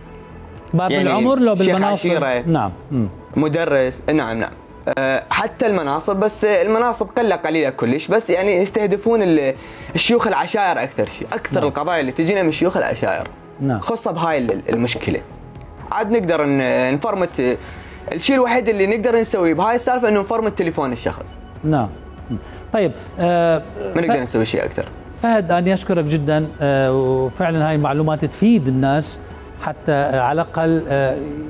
كبار يعني بالعمر لو بالمناصب. نعم. مدرس. نعم. حتى المناصب، بس المناصب قله قليله كلش، بس يعني يستهدفون الشيوخ العشائر اكثر شيء، اكثر. نعم. القضايا اللي تجينا من شيوخ العشائر. نعم. خاصه بهاي المشكله. عاد نقدر نفرمت. الشيء الوحيد اللي نقدر نسويه بهاي السالفه انه نفرمت تليفون الشخص. نعم. طيب ما نقدر نسوي شيء اكثر. فهد أنا أشكرك جدا، وفعلا هاي المعلومات تفيد الناس حتى على الأقل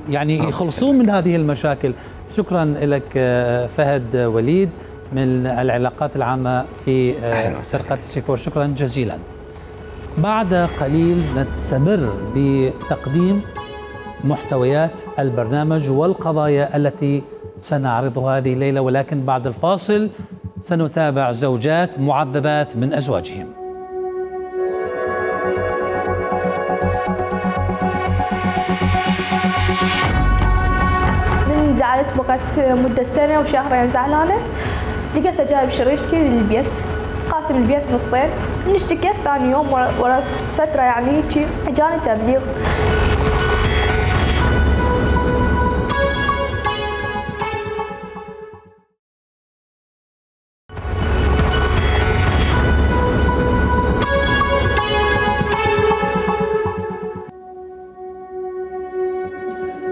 يعني يخلصون من هذه المشاكل. شكرا لك فهد وليد من العلاقات العامة في فرقة سيفور، شكرا جزيلا. بعد قليل نستمر بتقديم محتويات البرنامج والقضايا التي سنعرضها هذه الليلة، ولكن بعد الفاصل سنتابع زوجات معذبات من أزواجهم. من زعلت بقت مدة سنة وشهرين زعلانة، لقيته جايب شريكتي للبيت، قاسم البيت نصين، نشتكي ثاني يوم ورا فترة يعني هيجي جاني تبليغ.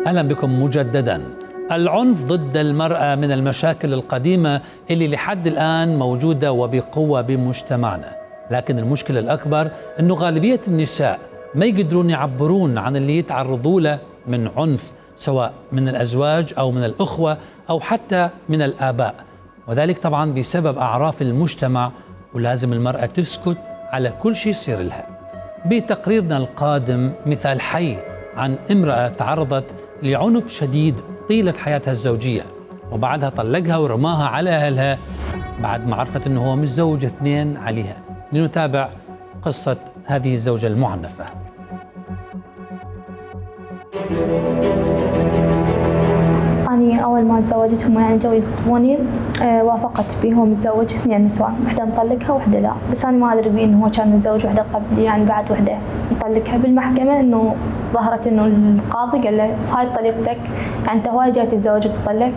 أهلا بكم مجددا. العنف ضد المرأة من المشاكل القديمة اللي لحد الآن موجودة وبقوة بمجتمعنا، لكن المشكلة الأكبر أنه غالبية النساء ما يقدرون يعبرون عن اللي يتعرضوا له من عنف، سواء من الأزواج أو من الأخوة أو حتى من الآباء، وذلك طبعا بسبب أعراف المجتمع، ولازم المرأة تسكت على كل شيء يصير لها. بتقريرنا القادم مثال حي عن امرأة تعرضت لعنف شديد طيلة حياتها الزوجية، وبعدها طلقها ورماها على أهلها بعد ما عرفت أنه هو متزوج 2 عليها. لنتابع قصة هذه الزوجة المعنفة. أنا أول ما ما تزوجتهم يعني جو يخطبوني وافقت بيه. هو متزوج 2 نسوان، وحده مطلقها وحده لا، بس انا ما ادري بيه انه هو كان متزوج وحده قبلي، يعني بعد وحده مطلقها. بالمحكمه انه ظهرت انه القاضي قال له هاي طليقتك، يعني انت هواي جاي تتزوج وتطلق.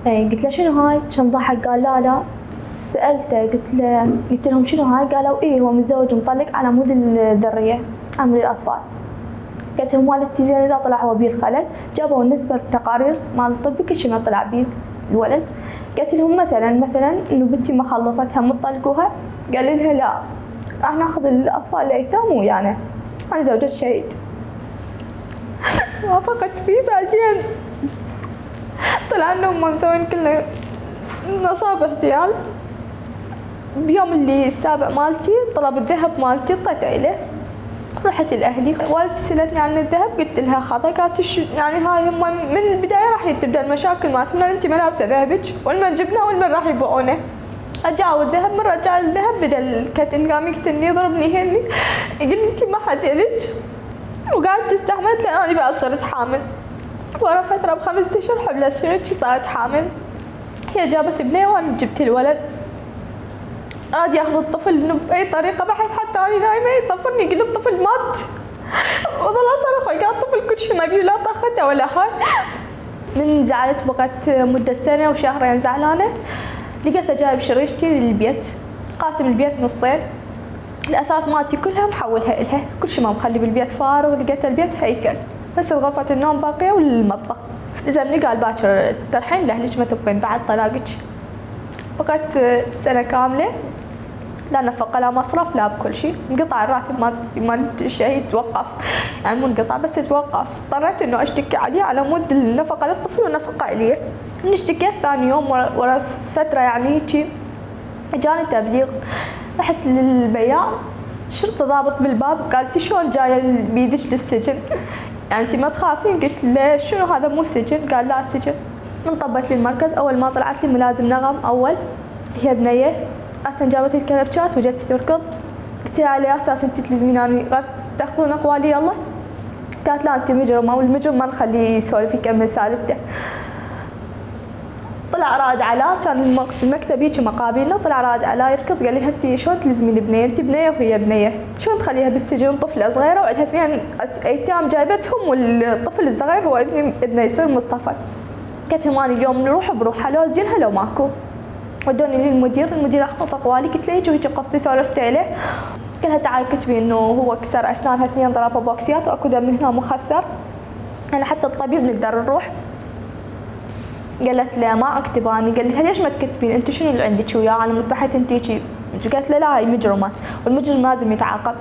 قلت له شنو هاي؟ كان ضحك قال لا. سالته قلت لهم شنو هاي؟ قالوا ايه هو متزوج ومطلق على مود الذريه، على مود الاطفال. قلت لهم والدتي زين اذا طلع هو بيه الخلل، جابوا نسبه التقارير مال الطب كل شيء ما طلع بيه الولد. قلت لهم مثلا انه بنتي ما خلفتها مطلقوها، قال لها لا راح ناخذ الاطفال الايتام ويانا، انا زوجة شهيد. وافقت فيه. بعدين طلع انهم مسوين كله نصاب احتيال. بيوم اللي السابع مالتي طلب الذهب مالتي، اعطيته له. رحت لاهلي، والدتي سالتني عن الذهب، قلت لها خطا. قالت يعني هاي هم من البدايه راح تبدا المشاكل مالتهم، انت ما لابسه ذهبك، والمن جبناه والمن راح يبيعونه. رجعوا الذهب، من رجع الذهب بدا الكتن، قام يقتلني يضربني يهني، يقول لي انت ما حد يلج، وقعدت استحملت لان انا بقى صرت حامل. ورا فتره ب5 اشهر حبلت شنو صارت حامل. هي جابت بنيه وانا جبت الولد. راد ياخذ الطفل انه باي طريقه، بحث حتى انا نايمه يطفرني يقول الطفل مات، وظل اصرخ قال الطفل كل شيء ما بيه، لا طخته ولا هاي. من زعلت بقت مده سنه وشهرين زعلانه. لقيته جايب شريشتي للبيت، قاسم البيت نصين، الاثاث مالتي كلها محولها الها، كل شيء ما مخلي بالبيت فارغ. لقيت البيت هيكل بس غرفه النوم باقيه والمطبخ. لزمني قال باكر ترحين لاهلك ما تبقين بعد طلاقك. بقيت سنه كامله لا نفقه لا مصرف لا بكل شيء، انقطع الراتب مال الشهيد، توقف يعني مو انقطع بس توقف. اضطريت انه اشتكي عليه على مود النفقه للطفل والنفقه الي. اشتكيت ثاني يوم ورا فتره يعني هيجي اجاني تبليغ. رحت للبياع، الشرطه ضابط بالباب، قالت شلون جايه بيدك للسجن؟ يعني انت ما تخافين؟ قلت له شنو هذا مو سجن؟ قال لا سجن. انطبت لي المركز، اول ما طلعت لي ملازم نغم اول، هي بنيه اصلا جابت لي الكلبشات وجت تركض. قلت لها على اساس انت تلزميناني تاخذون اقوالي يلا؟ قالت لا انت مجرمه، والمجرم ما نخليه يسولف يكمل سالفته. طلع راد علا، كان المكتب هيك مقابلنا، طلع راد علا يركض قال لي انت شلون تلزمين بنيه؟ انت بنيه وهي بنيه، شلون تخليها بالسجن طفله صغيره وعندها 2 ايتام جايبتهم، والطفل الصغير هو ابنه يصير مصطفى. قلت لهم انا اليوم نروح بروح لو زينها لو ماكو. ودوني للمدير، المدير اخذ اقوالي، قلت له هيك وهيك قصتي، سولفت له. قال لها تعالي كتبي انه هو كسر اسنانها 2 ضربه بوكسيات واكو دم هنا مخثر، انا حتى الطبيب نقدر نروح. قالت له ما اكتب اني. قال لها ليش ما تكتبين؟ انت شنو اللي عندك وياه؟ انا متبحث انت هيك. قالت له لا هي مجرمه والمجرم لازم يتعاقب.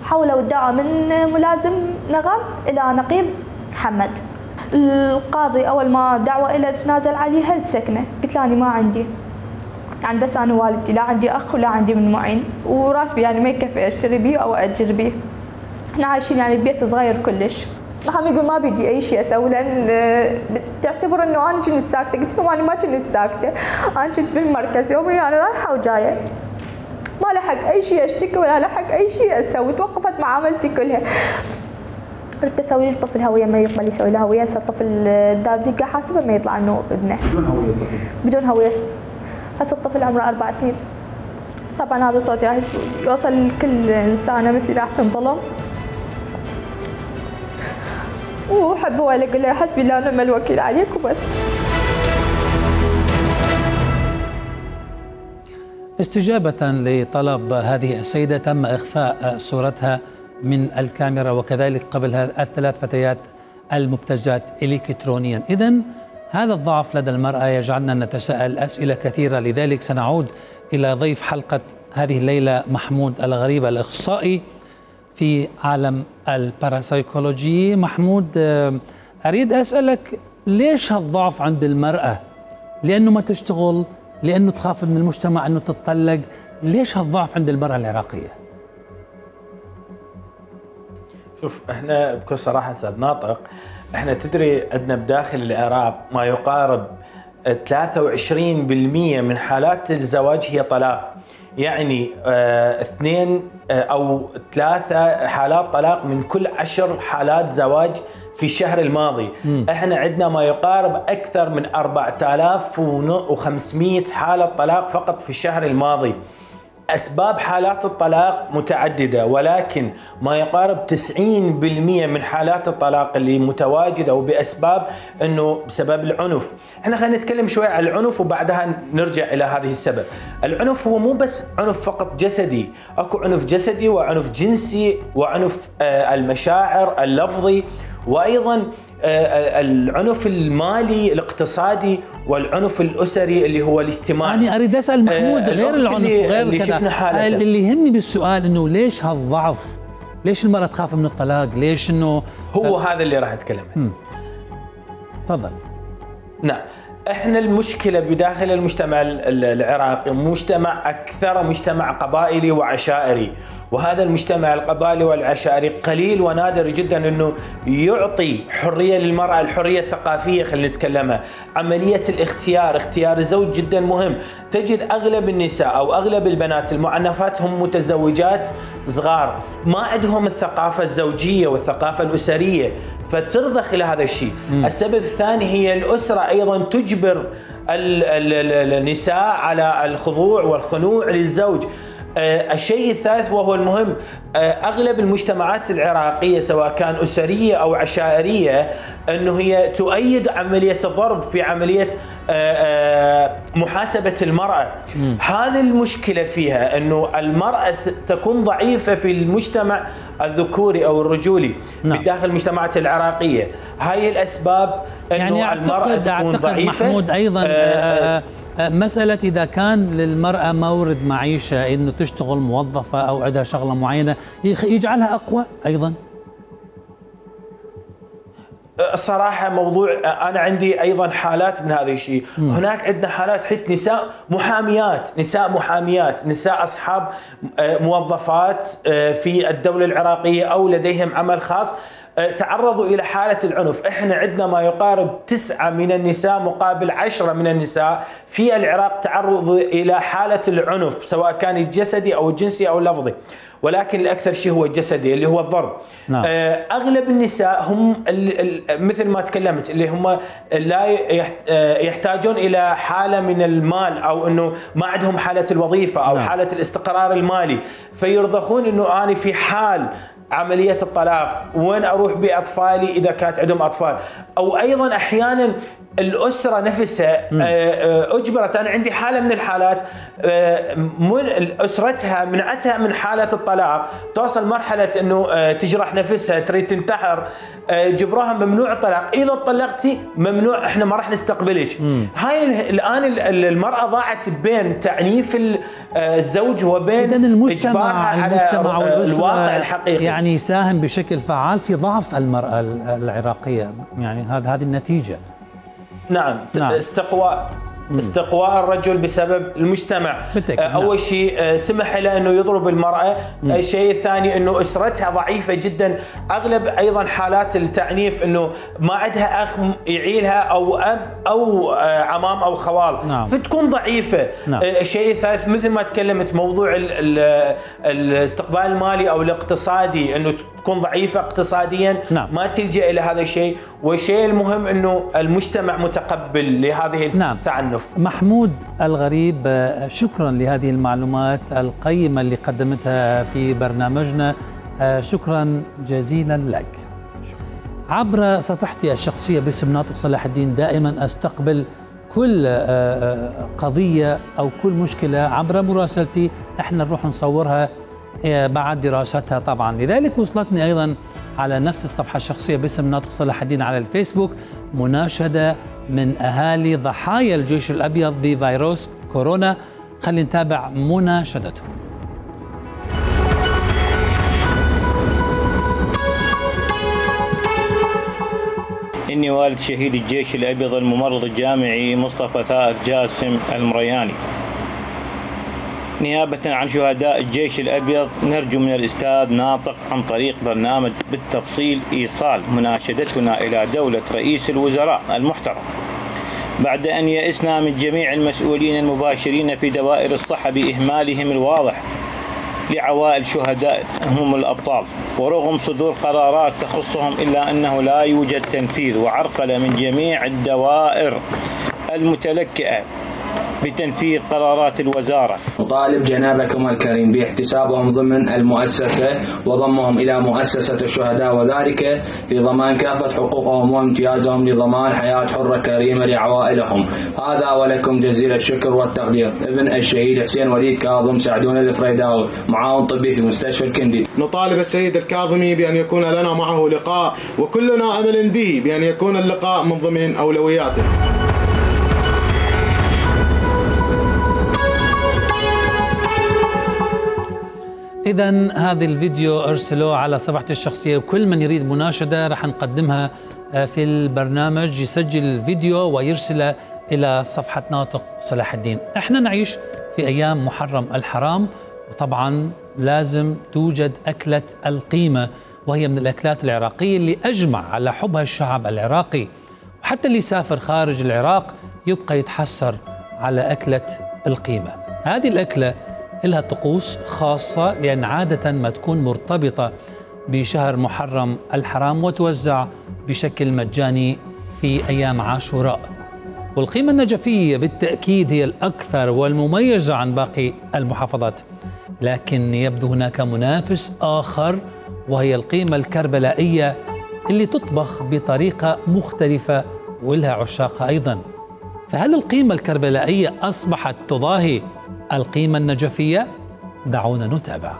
حولوا الدعوه من ملازم نغم الى نقيب محمد. القاضي اول ما دعوه الى تنازل عليها السكنه، قلت له انا ما عندي، يعني بس انا والدتي لا عندي اخ ولا عندي من معين، وراتبي يعني ما يكفي اشتري بيه او اجر بيه. احنا عايشين يعني ببيت صغير كلش. محمد يقول ما بدي اي شيء اسوي لان تعتبر انه انا كنت ساكته. قلت له انا ما كنت ساكته، انا كنت بالمركز يومي انا رايحه وجايه، ما لحق اي شيء اشتكي ولا لحق اي شيء اسوي، توقفت معاملتي كلها. ردت اسوي لي الطفل هويه، ما يقبل يسوي له هويه. هسه الطفل الدقيقه حاسبه ما يطلع انه ابنه. بدون هويه الطفل؟ بدون هويه. هسه الطفل عمره 4 سنين. طبعا هذا صوت راح يوصل لكل انسانه مثلي راح تنظلم. وحب هو اقول له حسبي الله ونعم الوكيل عليك وبس. استجابة لطلب هذه السيدة تم إخفاء صورتها من الكاميرا، وكذلك قبل ال3 فتيات المبتزات إلكترونيا. إذن هذا الضعف لدى المرأة يجعلنا نتساءل أسئلة كثيرة، لذلك سنعود إلى ضيف حلقة هذه الليلة محمود الغريب، الإخصائي في عالم الباراسايكولوجي. محمود، أريد أسألك ليش هالضعف عند المرأة؟ لأنه ما تشتغل؟ لأنه تخاف من المجتمع أنه تتطلق؟ ليش هالضعف عند المرأة العراقية؟ شوف، احنا بكل صراحة أستاذ ناطق، احنا تدري عندنا بداخل العراق ما يقارب 23% من حالات الزواج هي طلاق، يعني 2 أو 3 حالات طلاق من كل 10 حالات زواج في الشهر الماضي. احنا عندنا ما يقارب اكثر من 4500 حالة طلاق فقط في الشهر الماضي. أسباب حالات الطلاق متعددة، ولكن ما يقارب 90% من حالات الطلاق اللي متواجدة وبأسباب أنه بسبب العنف. احنا خلينا نتكلم شوي عن العنف وبعدها نرجع إلى هذه السبب. العنف هو مو بس عنف فقط جسدي، أكو عنف جسدي وعنف جنسي وعنف المشاعر اللفظي، وأيضا العنف المالي الاقتصادي والعنف الأسري اللي هو الاجتماعي. يعني أريد أسأل محمود غير العنف وغير كذا، اللي يهمني بالسؤال إنه ليش هالضعف؟ ليش المرأة تخاف من الطلاق؟ ليش إنه هو هذا اللي راح أتكلم عنه. تفضل. نعم، احنا المشكلة بداخل المجتمع العراقي مجتمع مجتمع قبائلي وعشائري، وهذا المجتمع القبائلي والعشائري قليل ونادر جدا انه يعطي حرية للمرأة، الحرية الثقافية خلينا نتكلمها، عملية اختيار الزوج جدا مهم. تجد اغلب النساء او اغلب البنات المعنفات هم متزوجات صغار، ما عندهم الثقافة الزوجية والثقافة الأسرية، فترضخ الى هذا الشيء. السبب الثاني هي الأسرة ايضا تجبر النساء على الخضوع والخنوع للزوج. الشيء الثالث وهو المهم، أغلب المجتمعات العراقية سواء كان أسرية أو عشائرية أنه هي تؤيد عملية الضرب في عملية محاسبة المرأة. هذه المشكلة فيها أنه المرأة تكون ضعيفة في المجتمع الذكوري أو الرجولي بداخل المجتمعات العراقية. هاي الأسباب أنه يعني المرأة تكون ضعيفة. محمود أيضا مسألة إذا كان للمرأة مورد معيشة إنه تشتغل موظفة أو عندها شغلة معينة يجعلها أقوى أيضا. الصراحة موضوع أنا عندي أيضا حالات من هذا الشيء. هناك عندنا حالات حتى نساء محاميات، نساء أصحاب موظفات في الدولة العراقية أو لديهم عمل خاص تعرضوا إلى حالة العنف. إحنا عندنا ما يقارب 9 من النساء مقابل 10 من النساء في العراق تعرضوا إلى حالة العنف، سواء كان الجسدي أو الجنسي أو اللفظي، ولكن الأكثر شيء هو الجسدي اللي هو الضرب. نعم. أغلب النساء هم مثل ما تكلمت اللي هم لا يحتاجون إلى حالة من المال، أو أنه ما عندهم حالة الوظيفة أو نعم. حالة الاستقرار المالي، فيرضخون أنه أنا في حال عملية الطلاق وين أروح بأطفالي إذا كانت عندهم أطفال، أو أيضا أحيانا الأسرة نفسها أجبرت. أنا عندي حالة من الحالات أسرتها منعتها من حالة الطلاق، توصل مرحلة أنه تجرح نفسها تريد تنتحر، جبروها ممنوع الطلاق، إذا طلقتي ممنوع، إحنا ما راح نستقبلك. هاي الآن المرأة ضاعت بين تعنيف الزوج وبين المجتمع والأسرة الواقع الحقيقي، يعني يساهم بشكل فعال في ضعف المرأة العراقية. يعني هذه النتيجة. نعم. استقواء الرجل بسبب المجتمع. أول شيء سمح له أنه يضرب المرأة. الشيء الثاني أنه أسرتها ضعيفة جدا. أغلب أيضا حالات التعنيف أنه ما عندها أخ يعيلها أو أب أو عمام أو خوال. نعم. فتكون ضعيفة. نعم. الشيء الثالث مثل ما تكلمت موضوع الاستقبال المالي أو الاقتصادي، أنه تكون ضعيفة اقتصاديا. نعم. ما تلجأ إلى هذا الشيء. والشيء المهم أنه المجتمع متقبل لهذه التعنف. محمود الغريب، شكرا لهذه المعلومات القيمة اللي قدمتها في برنامجنا، شكرا جزيلا لك. عبر صفحتي الشخصية باسم ناطق صلاح الدين دائما أستقبل كل قضية أو كل مشكلة عبر مراسلتي، احنا نروح نصورها بعد دراستها طبعا. لذلك وصلتني أيضا على نفس الصفحة الشخصية باسم ناطق صلاح الدين على الفيسبوك مناشدة من أهالي ضحايا الجيش الأبيض بفيروس كورونا. خلينا نتابع مناشدتهم. إني والد شهيد الجيش الأبيض الممرض الجامعي مصطفى ثائر جاسم المرياني. نيابة عن شهداء الجيش الأبيض نرجو من الأستاذ ناطق عن طريق برنامج بالتفصيل إيصال مناشدتنا إلى دولة رئيس الوزراء المحترم، بعد أن يئسنا من جميع المسؤولين المباشرين في دوائر الصحة بإهمالهم الواضح لعوائل شهداء هم الأبطال، ورغم صدور قرارات تخصهم إلا أنه لا يوجد تنفيذ وعرقلة من جميع الدوائر المتلكئة بتنفيذ قرارات الوزارة. نطالب جنابكم الكريم باحتسابهم ضمن المؤسسة وضمهم إلى مؤسسة الشهداء، وذلك لضمان كافة حقوقهم وامتيازهم لضمان حياة حرة كريمة لعوائلهم. هذا ولكم جزيل الشكر والتقدير. ابن الشهيد حسين وليد كاظم سعدون الفريداوي، معاون طبي في مستشفى الكندي. نطالب السيد الكاظمي بأن يكون لنا معه لقاء، وكلنا أمل به بأن يكون اللقاء من ضمن أولوياته. إذن هذا الفيديو أرسلوه على صفحتي الشخصية، وكل من يريد مناشدة رح نقدمها في البرنامج، يسجل الفيديو ويرسله إلى صفحة ناطق صلاح الدين. احنا نعيش في أيام محرم الحرام، وطبعا لازم توجد أكلة القيمة، وهي من الأكلات العراقية اللي أجمع على حبها الشعب العراقي، وحتى اللي سافر خارج العراق يبقى يتحسر على أكلة القيمة. هذه الأكلة لها طقوس خاصة، لأن عادة ما تكون مرتبطة بشهر محرم الحرام وتوزع بشكل مجاني في أيام عاشوراء. والقيمة النجفية بالتأكيد هي الأكثر والمميزة عن باقي المحافظات، لكن يبدو هناك منافس آخر، وهي القيمة الكربلائية اللي تطبخ بطريقة مختلفة ولها عشاقها أيضا. فهل القيمة الكربلائية أصبحت تضاهي القيمة النجفية؟ دعونا نتابع.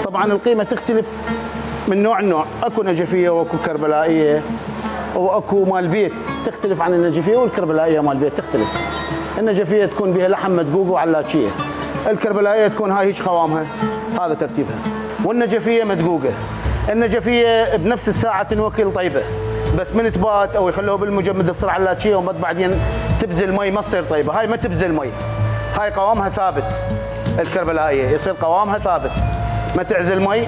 طبعا القيمة تختلف من نوع لنوع، اكو نجفية واكو كربلائية واكو مال بيت، تختلف عن النجفية والكربلائية. مال بيت تختلف، النجفية تكون بها لحم مدقوق وعلاتشية، الكربلائية تكون هاي هيش قوامها، هذا ترتيبها. والنجفية مدقوقة، النجفية بنفس الساعة تنوكل طيبة، بس من تبات او يخلوها بالمجمد تصير علاتشية وبعدين تبزل مي ما تصير طيبة. هاي ما تبزل مي، هاي قوامها ثابت. الكربلائية يصير قوامها ثابت، ما تعزل مي،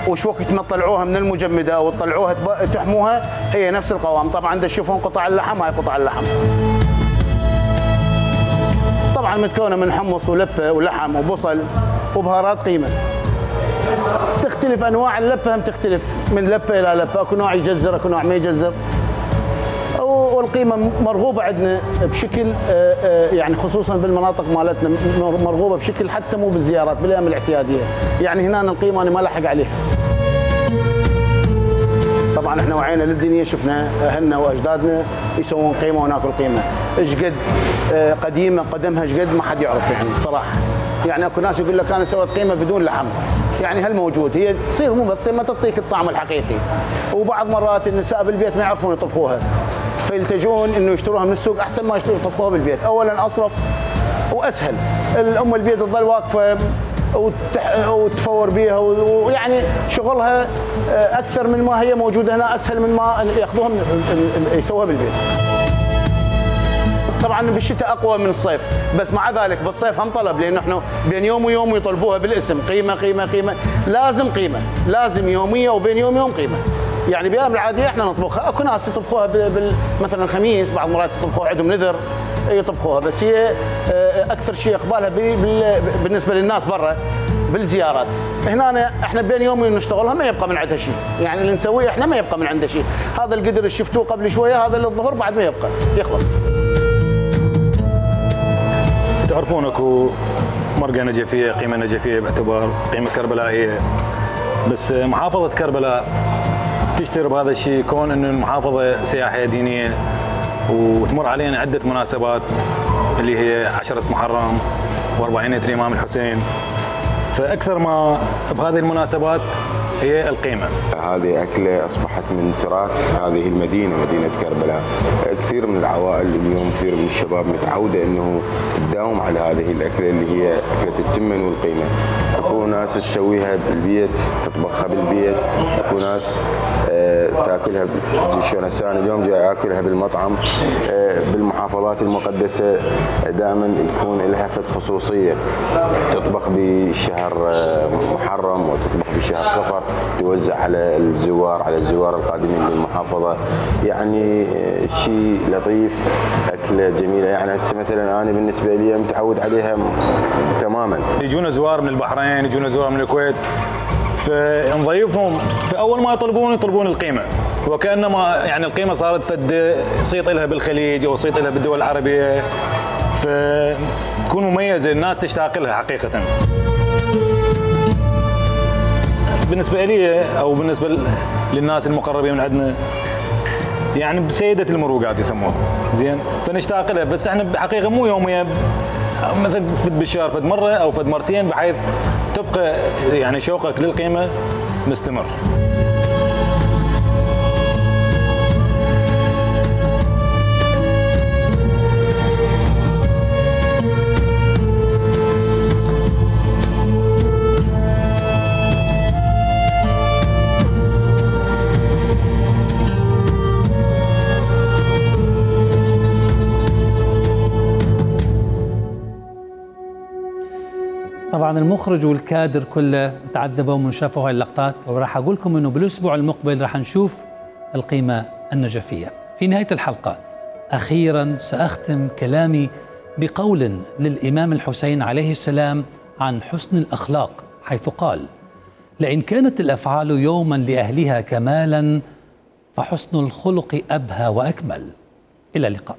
وش وقت ما تطلعوها من المجمدة وتطلعوها تحموها هي نفس القوام. طبعا تشوفون قطع اللحم، هاي قطع اللحم طبعا متكونة من حمص ولفة ولحم وبصل وبهارات قيمة. تختلف انواع اللفة، هم تختلف من لفة الى لفة، اكو نوع يجزر اكو نوع ما يجزر. والقيمة مرغوبة عندنا بشكل يعني خصوصا بالمناطق مالتنا مرغوبة بشكل حتى مو بالزيارات، بالايام الاعتيادية. يعني هنا القيمة انا ما لحق عليها. طبعا احنا وعينا للدنيا، شفنا اهلنا واجدادنا يسوون قيمة وناكل قيمة. ايش قد قديمة قدمها ايش قد ما حد يعرف يعني صراحة. يعني اكو ناس يقول لك انا سويت قيمة بدون لحم، يعني هل موجود، هي تصير مو بس ما تعطيك الطعم الحقيقي. وبعض مرات النساء بالبيت ما يعرفون يطبخوها، فيلتجون انه يشتروها من السوق احسن ما يشتروا يطبخوها بالبيت. اولا اصرف واسهل، الام البيت تظل واقفه وتفور بيها، ويعني شغلها اكثر من ما هي موجوده هنا، اسهل من ما ياخذوها يسووها بالبيت. طبعا بالشتاء اقوى من الصيف، بس مع ذلك بالصيف هم طلب، لانه احنا بين يوم ويوم يطلبوها بالاسم، قيمه قيمه قيمه، لازم قيمه، لازم يوميه وبين يوم ويوم قيمه. يعني بالايام العاديه احنا نطبخها، اكو ناس يطبخوها مثلا الخميس، بعض المرات يطبخوها عندهم نذر يطبخوها، بس هي اكثر شيء اقبالها بالنسبه للناس برا بالزيارات. هنا احنا بين يومين نشتغلها ما يبقى من عندها شيء، يعني اللي نسويه احنا ما يبقى من عنده شيء. هذا القدر اللي شفتوه قبل شويه هذا للظهر بعد ما يبقى يخلص. تعرفون اكو مرقه نجفيه، قيمه نجفيه باعتبار قيمه كربلائيه، بس محافظه كربلاء تشتهر بهذا الشيء، كون انه المحافظه سياحيه دينيه وتمر علينا عده مناسبات اللي هي 10 محرم و40 الامام الحسين، فاكثر ما بهذه المناسبات هي القيمة. هذه أكلة أصبحت من تراث هذه المدينة، مدينة كربلاء. كثير من العوائل اليوم، كثير من الشباب متعودة أنه تداوم على هذه الأكلة اللي هي أكلة التمن والقيمة. أكو ناس تسويها بالبيت، تطبخها بالبيت، أكو ناس تاكلها شلون هسه انا اليوم جاي اكلها بالمطعم. بالمحافظات المقدسة دائما يكون لها فد خصوصية، تطبخ بشهر محرم وتطبخ بشهر صفر، توزع على الزوار القادمين للمحافظه، يعني شيء لطيف، اكله جميله. يعني هسه مثلا انا بالنسبه لي متعود عليها تماما. يجونا زوار من البحرين، يجونا زوار من الكويت، فنضيفهم في اول ما يطلبون القيمه، وكانما يعني القيمه صارت فد صيت لها بالخليج او صيت لها بالدول العربيه، فتكون مميزه الناس تشتاق لها حقيقه. بالنسبه لي او بالنسبه للناس المقربين من عندنا، يعني بسيده المروقات يسموها، زين، فنشتاق لها، بس احنا بحقيقه مو يوميا، مثلا فد بالشهر فد مره او فد مرتين، بحيث تبقى يعني شوقك للقيمه مستمر. طبعا المخرج والكادر كله تعذبوا من شافوا هاي اللقطات، وراح اقول لكم انه بالاسبوع المقبل راح نشوف القيمه النجفيه. في نهايه الحلقه اخيرا ساختم كلامي بقول للامام الحسين عليه السلام عن حسن الاخلاق، حيث قال: لئن كانت الافعال يوما لاهلها كمالا فحسن الخلق ابهى واكمل. الى اللقاء.